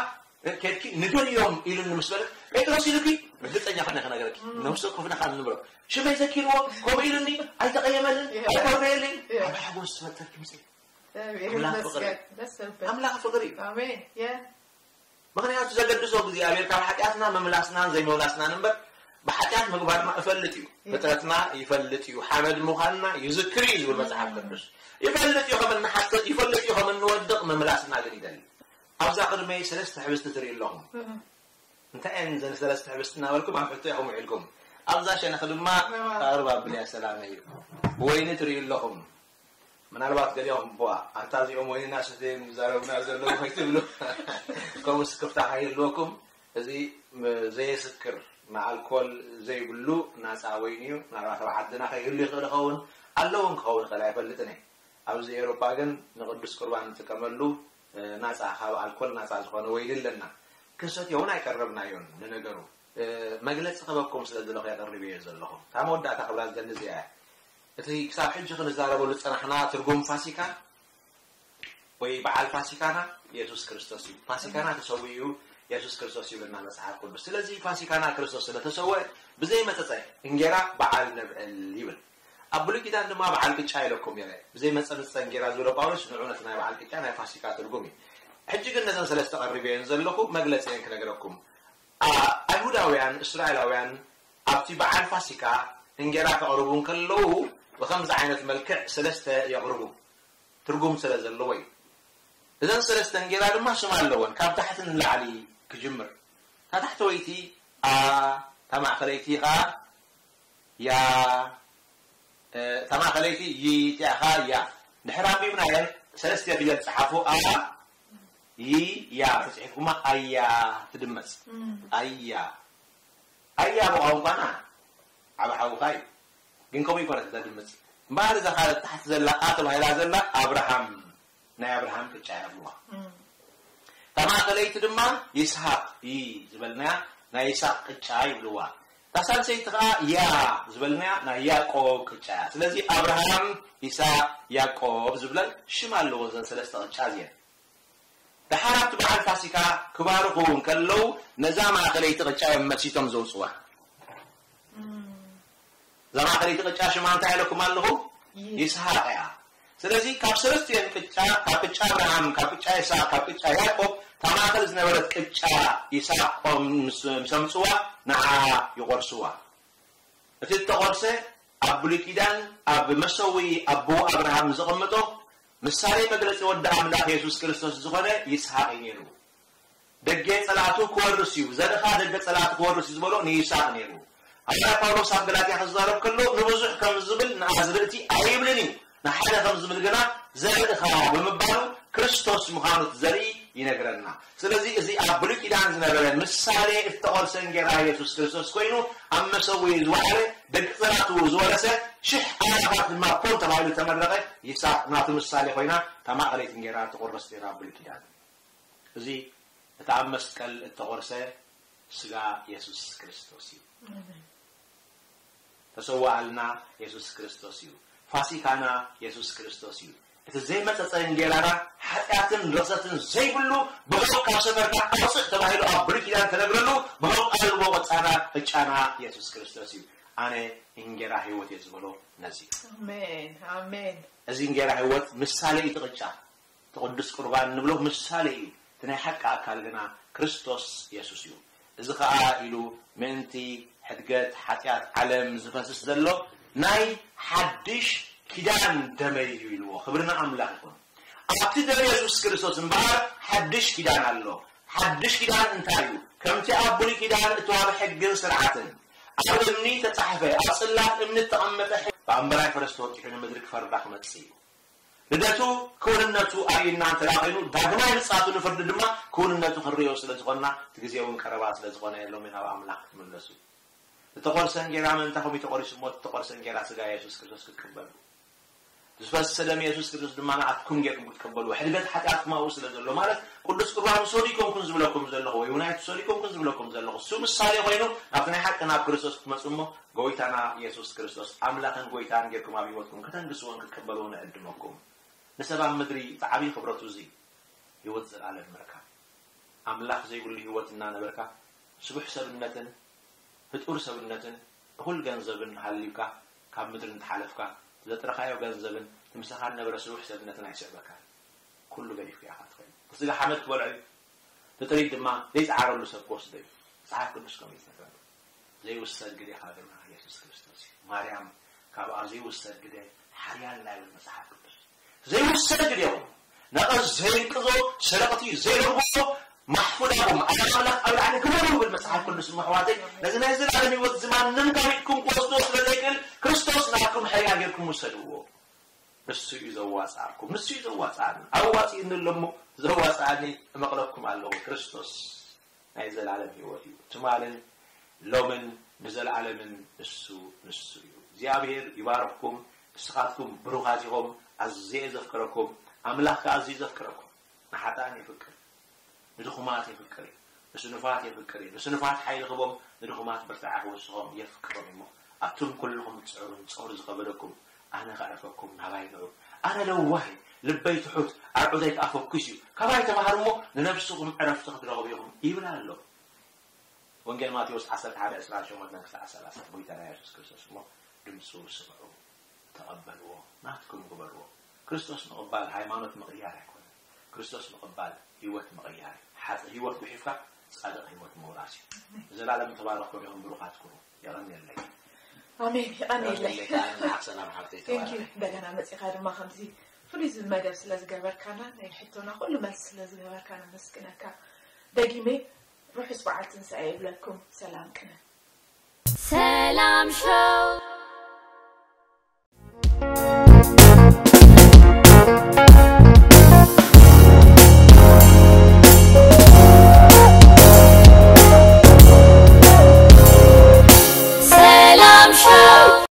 ኬድኪ ንደልዮም ኢሉኒ ምስ በለ ጴጥሮስ ኢሉኪ ርግጸኛ ኾነ ክነገረኪ ነብሱ ክፍነኻ ንብሎ ሽመይ ዘኪርዎ ከምኡ ኢሉኒ ኣይተቐየመልን ኣይኮረየልን ዓቢ ሓጎስ ዝፈጠርኪ ምጽ ኣምላኽ ፍቕሪ ኣምላኽ ፍቕሪ እዩ ምኽንያቱ ዘገድሶ እግዚኣብሔር ካብ ሓጢኣትና ምምላስናን ዘይምምላስናን እምበር ብሓጢኣት ምግባርና እፈልጥ እዩ ፍጥረትና ይፈልጥ እዩ ሓመድ ምዃንና ይዝክር እዩ ዝብል መጽሓፍ ቅዱስ ይፈልጥ እዩ ከም እንሓስብ ይፈልጥ እዩ ከም እንወድቕ ምምላስና ግን ይደሊ ኣብዛ ቅድመይ ሰለስተ ሕብስቲ ትርኢ ኣለኹም እንታይ እየን ዘን ሰለስተ ሕብስቲ እናበልኩም ኣብ ሕቶ ኢኹም ውዒልኩም ኣብዛ ሸነኽ ድማ ኣቕርብ ኣብልያ ሰላመይ እዩ ወይኒ ትርኢ ኣለኹም ምናልባት ገሊኦም ቧ ኣንታ እዚኦም ወይኒ እናሰተዮም ዝዛረቡና ዘለዉ ከይትብሉ ከምኡ ስክፍታ ከይህልወኩም እዚ ዘየስክር ንኣልኮል ዘይብሉ ናፃ ወይኒ እዩ ምናልባት ኣብ ዓድና ከይህሉ ይኽእል ይኸውን ኣለውን ክኸውን ይኽእል ኣይፈልጥን እየ ኣብዚ ኤውሮጳ ግን ንቅዱስ ቁርባን ንጥቀመሉ ናፃ ካብ ኣልኮል ናፃ ዝኾነ ወይኒ ኣለና ክሰትዮ እውን ኣይቀረብናዮን ንነገሩ መግለፂ ክበኩም ስለ ዘለኹ የቐርብ እየ ዘለኹ። እታ መወዳእታ ክብላ ዝደሊ እዚኣ እያ። እቲ ክሳብ ሕጂ ክንዛረበሉ ዝፀናሕና ትርጉም ፋሲካ ወይ በዓል ፋሲካና የሱስ ክርስቶስ እዩ። ፋሲካና ተሰዊኡ የሱስ ክርስቶስ ይብልና መጽሓፍ ቅዱስ። ስለዚ ፋሲካና ክርስቶስ ስለተሰወ ብዘይ መጸጸ እንጌራ በዓል ነብዕል ይብል። ኣብ ብሉይ ኪዳን ድማ በዓል ቅጫ ኢለኩም ነይረ። ብዘይ መጸጸ እንጌራ ዝበሎ ጳውሎስ ንዑ ነቲ ናይ በዓል ቅጫ ናይ ፋሲካ ትርጉም እዩ። ሕጂ ግን ነዘን ሰለስተ ቀሪበየን ዘለኹ መግለጺየን ክነግረኩም። ኣይሁዳውያን እስራኤላውያን ኣብቲ በዓል ፋሲካ እንጌራ ከቕርቡ እንከለዉ ብኸምዚ ዓይነት መልክዕ ሰለስተ የቕርቡ። ትርጉም ስለ ዘለዎ እዩ። እዘን ሰለስተ እንጌራ ድማ ሽም ኣለወን። ካብ ታሕቲ ንላዕሊ ክጅምር። እታ ታሕተወይቲ ኣ፣ እታ ማእኸለይቲ ኸዓ ያ፣ እታ ማእኸለይቲ ይ፣ እቲኣ ኸዓ ያ። ድሕሪ ኣንቢብናየን ሰለስተ ፊደል ጸሓፉ። ኣ፣ ይ፣ ያ ተጽሒፍኩማ ኣያ ትድመጽ። ኣያ። ኣያ ብቋንቋና ዓቢ ሓውኻ እዩ። ግን ከምኡ ይኮነት እዛ ድምጽ። እምበኣር እዛ ካልእ ታሕቲ ዘላ ኣ ተባሂላ ዘላ ኣብርሃም፣ ናይ ኣብርሃም ቅጫ ይብልዋ። እታ ማእኸለይቲ ድማ ይስሃቅ ይ ዝበልናያ ናይ ይስሃቅ ቅጫ ይብልዋ። እታ ሳልሰይቲ ከዓ ያ ዝበልናያ ናይ ያዕቆብ ቅጫ እያ። ስለዚ ኣብርሃም፣ ይስሃቅ፣ ያዕቆብ ዝብለን ሽም ኣለዎ እዘን ሰለስተ ቅጫ እዚአን። ደሓር ኣብቲ በዓል ፋሲካ ክባርኹ እንከለዉ ነዛ ማእኸለይቲ ቅጫ እዮም መሲቶም ዘውፅዋ። እዛ ማእኸለይቲ ቅጫ ሽማ እንታይ ኢለኩም ኣለኹ? ይስሃቅ እያ። ስለዚ ካብ ሰለስቲአን ቅጫ፣ ካብ ቅጫ ኣብርሃም፣ ካብ ቅጫ ይስሃቅ፣ ካብ ቅጫ ያዕቆብ እታ ማእኸል ዝነበረት ቅጫ ይስሃቅ ቆም ምስ፣ ምስ ኣምፅዋ ንዓ ይቆርስዋ። እቲ እተቆርሰ ኣብ ብሉይ ኪዳን ኣብ መሰዊ ኣቦ ኣብርሃም ዘቐመጦ ምሳሌ መግለጺ ወዲ ኣምላኽ የሱስ ክርስቶስ ዝኾነ ይስሃቅ እዩ ነይሩ። ደገ ጸላእቱ ክወርስ እዩ፣ ዘርእኻ ደገ ጸላእቱ ክወርስ እዩ ዝበሎ ንይስሃቅ ነይሩ። ሃዋርያ ጳውሎስ ኣብ ገላትያ ክዛረብ ከሎ ንብዙሕ ከም ዝብል ንኣዝርእቲ ኣይብልን እዩ፣ ንሓደ ከም ዝብል ግና ዘርእኻ ብምባሉ ክርስቶስ ምዃኑ እቲ ዘርኢ ይነግረና። ስለዚ እዚ ኣብ ብሉይ ኪዳን ዝነበረ ምሳሌ እተቖርሰ እንጌራ የሱስ ክርስቶስ ኮይኑ ኣብ መሰዊ ዝወዓለ ደቂ ጸላእቱ ዝወረሰ ሽሕ ኣእላፋት ድማ ኮን ተባሂሉ ተመረቐ። ይስሃቅ ናቱ ምሳሌ ኮይና እታ ማእኸለይቲ እንጌራ ትቑረስ ነይራ ኣብ ብሉይ ኪዳን። እዚ እቲ ኣብ መስቀል እተቖርሰ ስጋ የሱስ ክርስቶስ እዩ። ተሰዋኣልና የሱስ ክርስቶስ እዩ። ፋሲካና የሱስ ክርስቶስ እዩ። እቲ ዘይመጸጸ እንጌራና ሓጢኣትን ርኽሰትን ዘይብሉ ብሕቕ ካብ ሰፈርካ ኣውፅእ ተባሂሉ ኣብ ብሉይ ኪዳን ተነግረሉ ብሕቕ ኣልቦ ቅጫና ቅጫና የሱስ ክርስቶስ እዩ። ኣነ እንጌራ ህይወት እየ ዝበሎ ነዚ እዩ። ኣሜን፣ ኣሜን። እዚ እንጌራ ህይወት ምሳሌ እዩ እቲ ቅጫ። እቲ ቅዱስ ቁርባን ንብሎ ምሳሌ እዩ። እቲ ናይ ሓቂ ኣካል ግና ክርስቶስ የሱስ እዩ። እዚ ኸኣ ኢሉ ምእንቲ ሕድገት ሓጢኣት ዓለም ዝፈስስ ዘሎ ናይ ሓድሽ ኪዳን ደመይ እዩ ኢልዎ። ክብሪ ንኣምላኽ ይኹን። ኣብቲ ደም የሱስ ክርስቶስ እምበኣር ሓድሽ ኪዳን ኣሎ። ሓድሽ ኪዳን እንታይ እዩ? ከምቲ ኣብ ብሉይ ኪዳን እተዋህበ ሕግን ስርዓትን ኣብ እምኒ ተጻሕፈ፣ ኣብ ጽላት እምኒ እተቐመጠ ሕግ ብኣምበራይ ፈረስ ተወጢሑ ንምድሪ ክፈርዳ ክመጽእ እዩ። ልደቱ ክውንነቱ ኣርእዩና እንተ ደኣ ኾይኑ፣ ዳግማይ ምጽኣቱ ንፍርዲ ድማ ክውንነቱ ክንርእዮ ስለ ዝኾንና፣ እቲ ግዜ እውን ቀረባ ስለ ዝኾነ፣ ሎሚ ናብ ኣምላኽ ክትምለሱ። ዝተቖርሰ እንጌራ ምእንታኹም እዩ ተቖሪሱ እሞ፣ እቲ ዝተቖርሰ እንጌራ ስጋ የሱስ ክርስቶስ ክትቅበሉ። ዝፈሰሰ ደም የሱስ ክርስቶስ ድማ ንኣትኩም ጌርኩም ክትቅበልዎ። ሕድገት ሓጢኣትኩም ኣብኡ ስለ ዘሎ፣ ማለት ቅዱስ ቁርባን ውሰዱ ኣይኮንኩን ዝብለኩም ዘለኹ፣ ወይ እውን ኣይትውሰዱ ኣይኮንኩን ዝብለኩም ዘለኹ። እሱ ምሳሌ ኮይኑ፣ ናብቲ ናይ ሓቂ ናብ ክርስቶስ ክትመጹ እሞ፣ ጎይታና የሱስ ክርስቶስ ኣምላኽን ጎይታን ጌርኩም ኣብ ህይወትኩም ከተንግስዎን ክትቅበልዎን እዕድመኩም። ንሰብ ኣብ ምድሪ እቲ ዓብዪ ክብረቱ እዚ ህይወት ዘለኣለም ምርካብ። ኣምላኽ ዘይብሉ ህይወት እናነበርካ ስቡሕ ሰብነትን ህጡር ሰብነትን እኹል ገንዘብን ሃልዩካ ካብ ምድሪ እንተሓለፍካ፣ ዘጥረኻዮ ገንዘብን እቲ ምሳኻ ዝነበረ ስቡሕ ሰብነትን ኣይስዕበካን። ኩሉ ገዲፍካ ኢኻ ትኸይድ። እቲ ስጋ ሓመድ ክበልዖ እዩ። እቲ ጥሪት ድማ ዘይጸዓረሉ ሰብ ክወስዶ እዩ። መጽሓፍ ቅዱስ ከምኡ እዩ ዝነግረና። ዘይውሰድ ግዴኻ ግርማ የሱስ ክርስቶስ እዩ። ማርያም ካብኣ ዘይውሰድ ግደ ሓያል ናይ ይብል መጽሓፍ ቅዱስ። ዘይውሰድ ግዴኹም ነቐዝ ዘይንቅዞ፣ ሰረቕቲ ዘይረኽቦ፣ ማሕፉዳኹም ኣብ ኣምላኽ ኣብ ላዕሊ ግበሩ ይብል መጽሓፍ ቅዱስ። እሞ ኣሕዋተይ፣ ነዚ ናይ ዘላለም ህይወት እዚ ማንም ካብ ኢድኩም ክወስዶ ስለ ዘይክእል፣ ክርስቶስ ናትኩም ሕርያ ጌርኩም ውሰድዎ። ንሱ እዩ ዘዋጽኣኩም፣ ንሱ እዩ ዘዋጽኣና። ኣዋጺእኒ ኣሎ እሞ ዘዋጽኣኒ እመቕለኩም ኣለኹ። ክርስቶስ ናይ ዘላለም ህይወት እዩ። ትማልን ሎምን ንዘለዓለምን ንሱ፣ ንሱ እዩ። እግዚኣብሔር ይባርኽኩም። ንስኻትኩም ብሩኻት ኢኹም። ኣዝየ ዘፍቅረኩም። ኣምላኽ ከኣ ኣዝዩ ዘፍቅረኩም። ንሓጥኣን የፍቅር፣ ንድኹማት የፍቅር እዩ። ንስኑፋት የፍቅር እዩ። ንስኑፋት ሓይሊ ክቦም፣ ንድኹማት ብርታዐ ክወስኾም የፍቅሮም እሞ፣ ኣቱም ኩልኹም ትጽዕሩን ጾር ዝኸበደኩም፣ ኣነ ከዕርፈኩም ናባይ ንዑ። ኣነ ለዋህ፣ ልበይ ትሑት፣ ኣርዑተይ ከኣ ፈኲስ እዩ። ካባይ ተማሃሩ እሞ፣ ንነብስኹም ዕረፍቲ ክትረኽቡ ኢኹም ይብል ኣሎ። ወንጌል ማቴዎስ ዓሰርተ ሓደ ዕስራን ሸሞንተን ክሳዕ ሰላሳ። ጎይታና የሱስ ክርስቶስ እሞ፣ ድምፁ ስምዑ፣ ተቐበልዎ፣ ናትኩም ግበርዎ። ክርስቶስ ምቕባል ሃይማኖት ምቕያር ኣይኮነን። ክርስቶስ ምቕባል ህይወት ምቕያር እዩ። ሓጢ ህይወት ጉሒፍካ ጻድቕ ህይወት ምውራስ እዩ። ንዘላለም ተባረኽኩም ኢኹም ብሩኻት ኩኑ። የቐንየለይ። ኣሜን። የቐንየለይ። የቐንየለይ። ከኣ ንዓኽ ሰላም ሓብተይ Thank you። ተባረኺ። እንደገና መፂኻ ድማ ከምዚ ፍሉይ መደብ ስለ ዝገበርካና ናይ ሕቶና ኩሉ መልሲ ስለ ዝገበርካ ነመስግነካ። ደጊመ ርሑስ በዓል ትንሳኤ ይብለኩም። ሰላም ቅነ ሰላም ሾው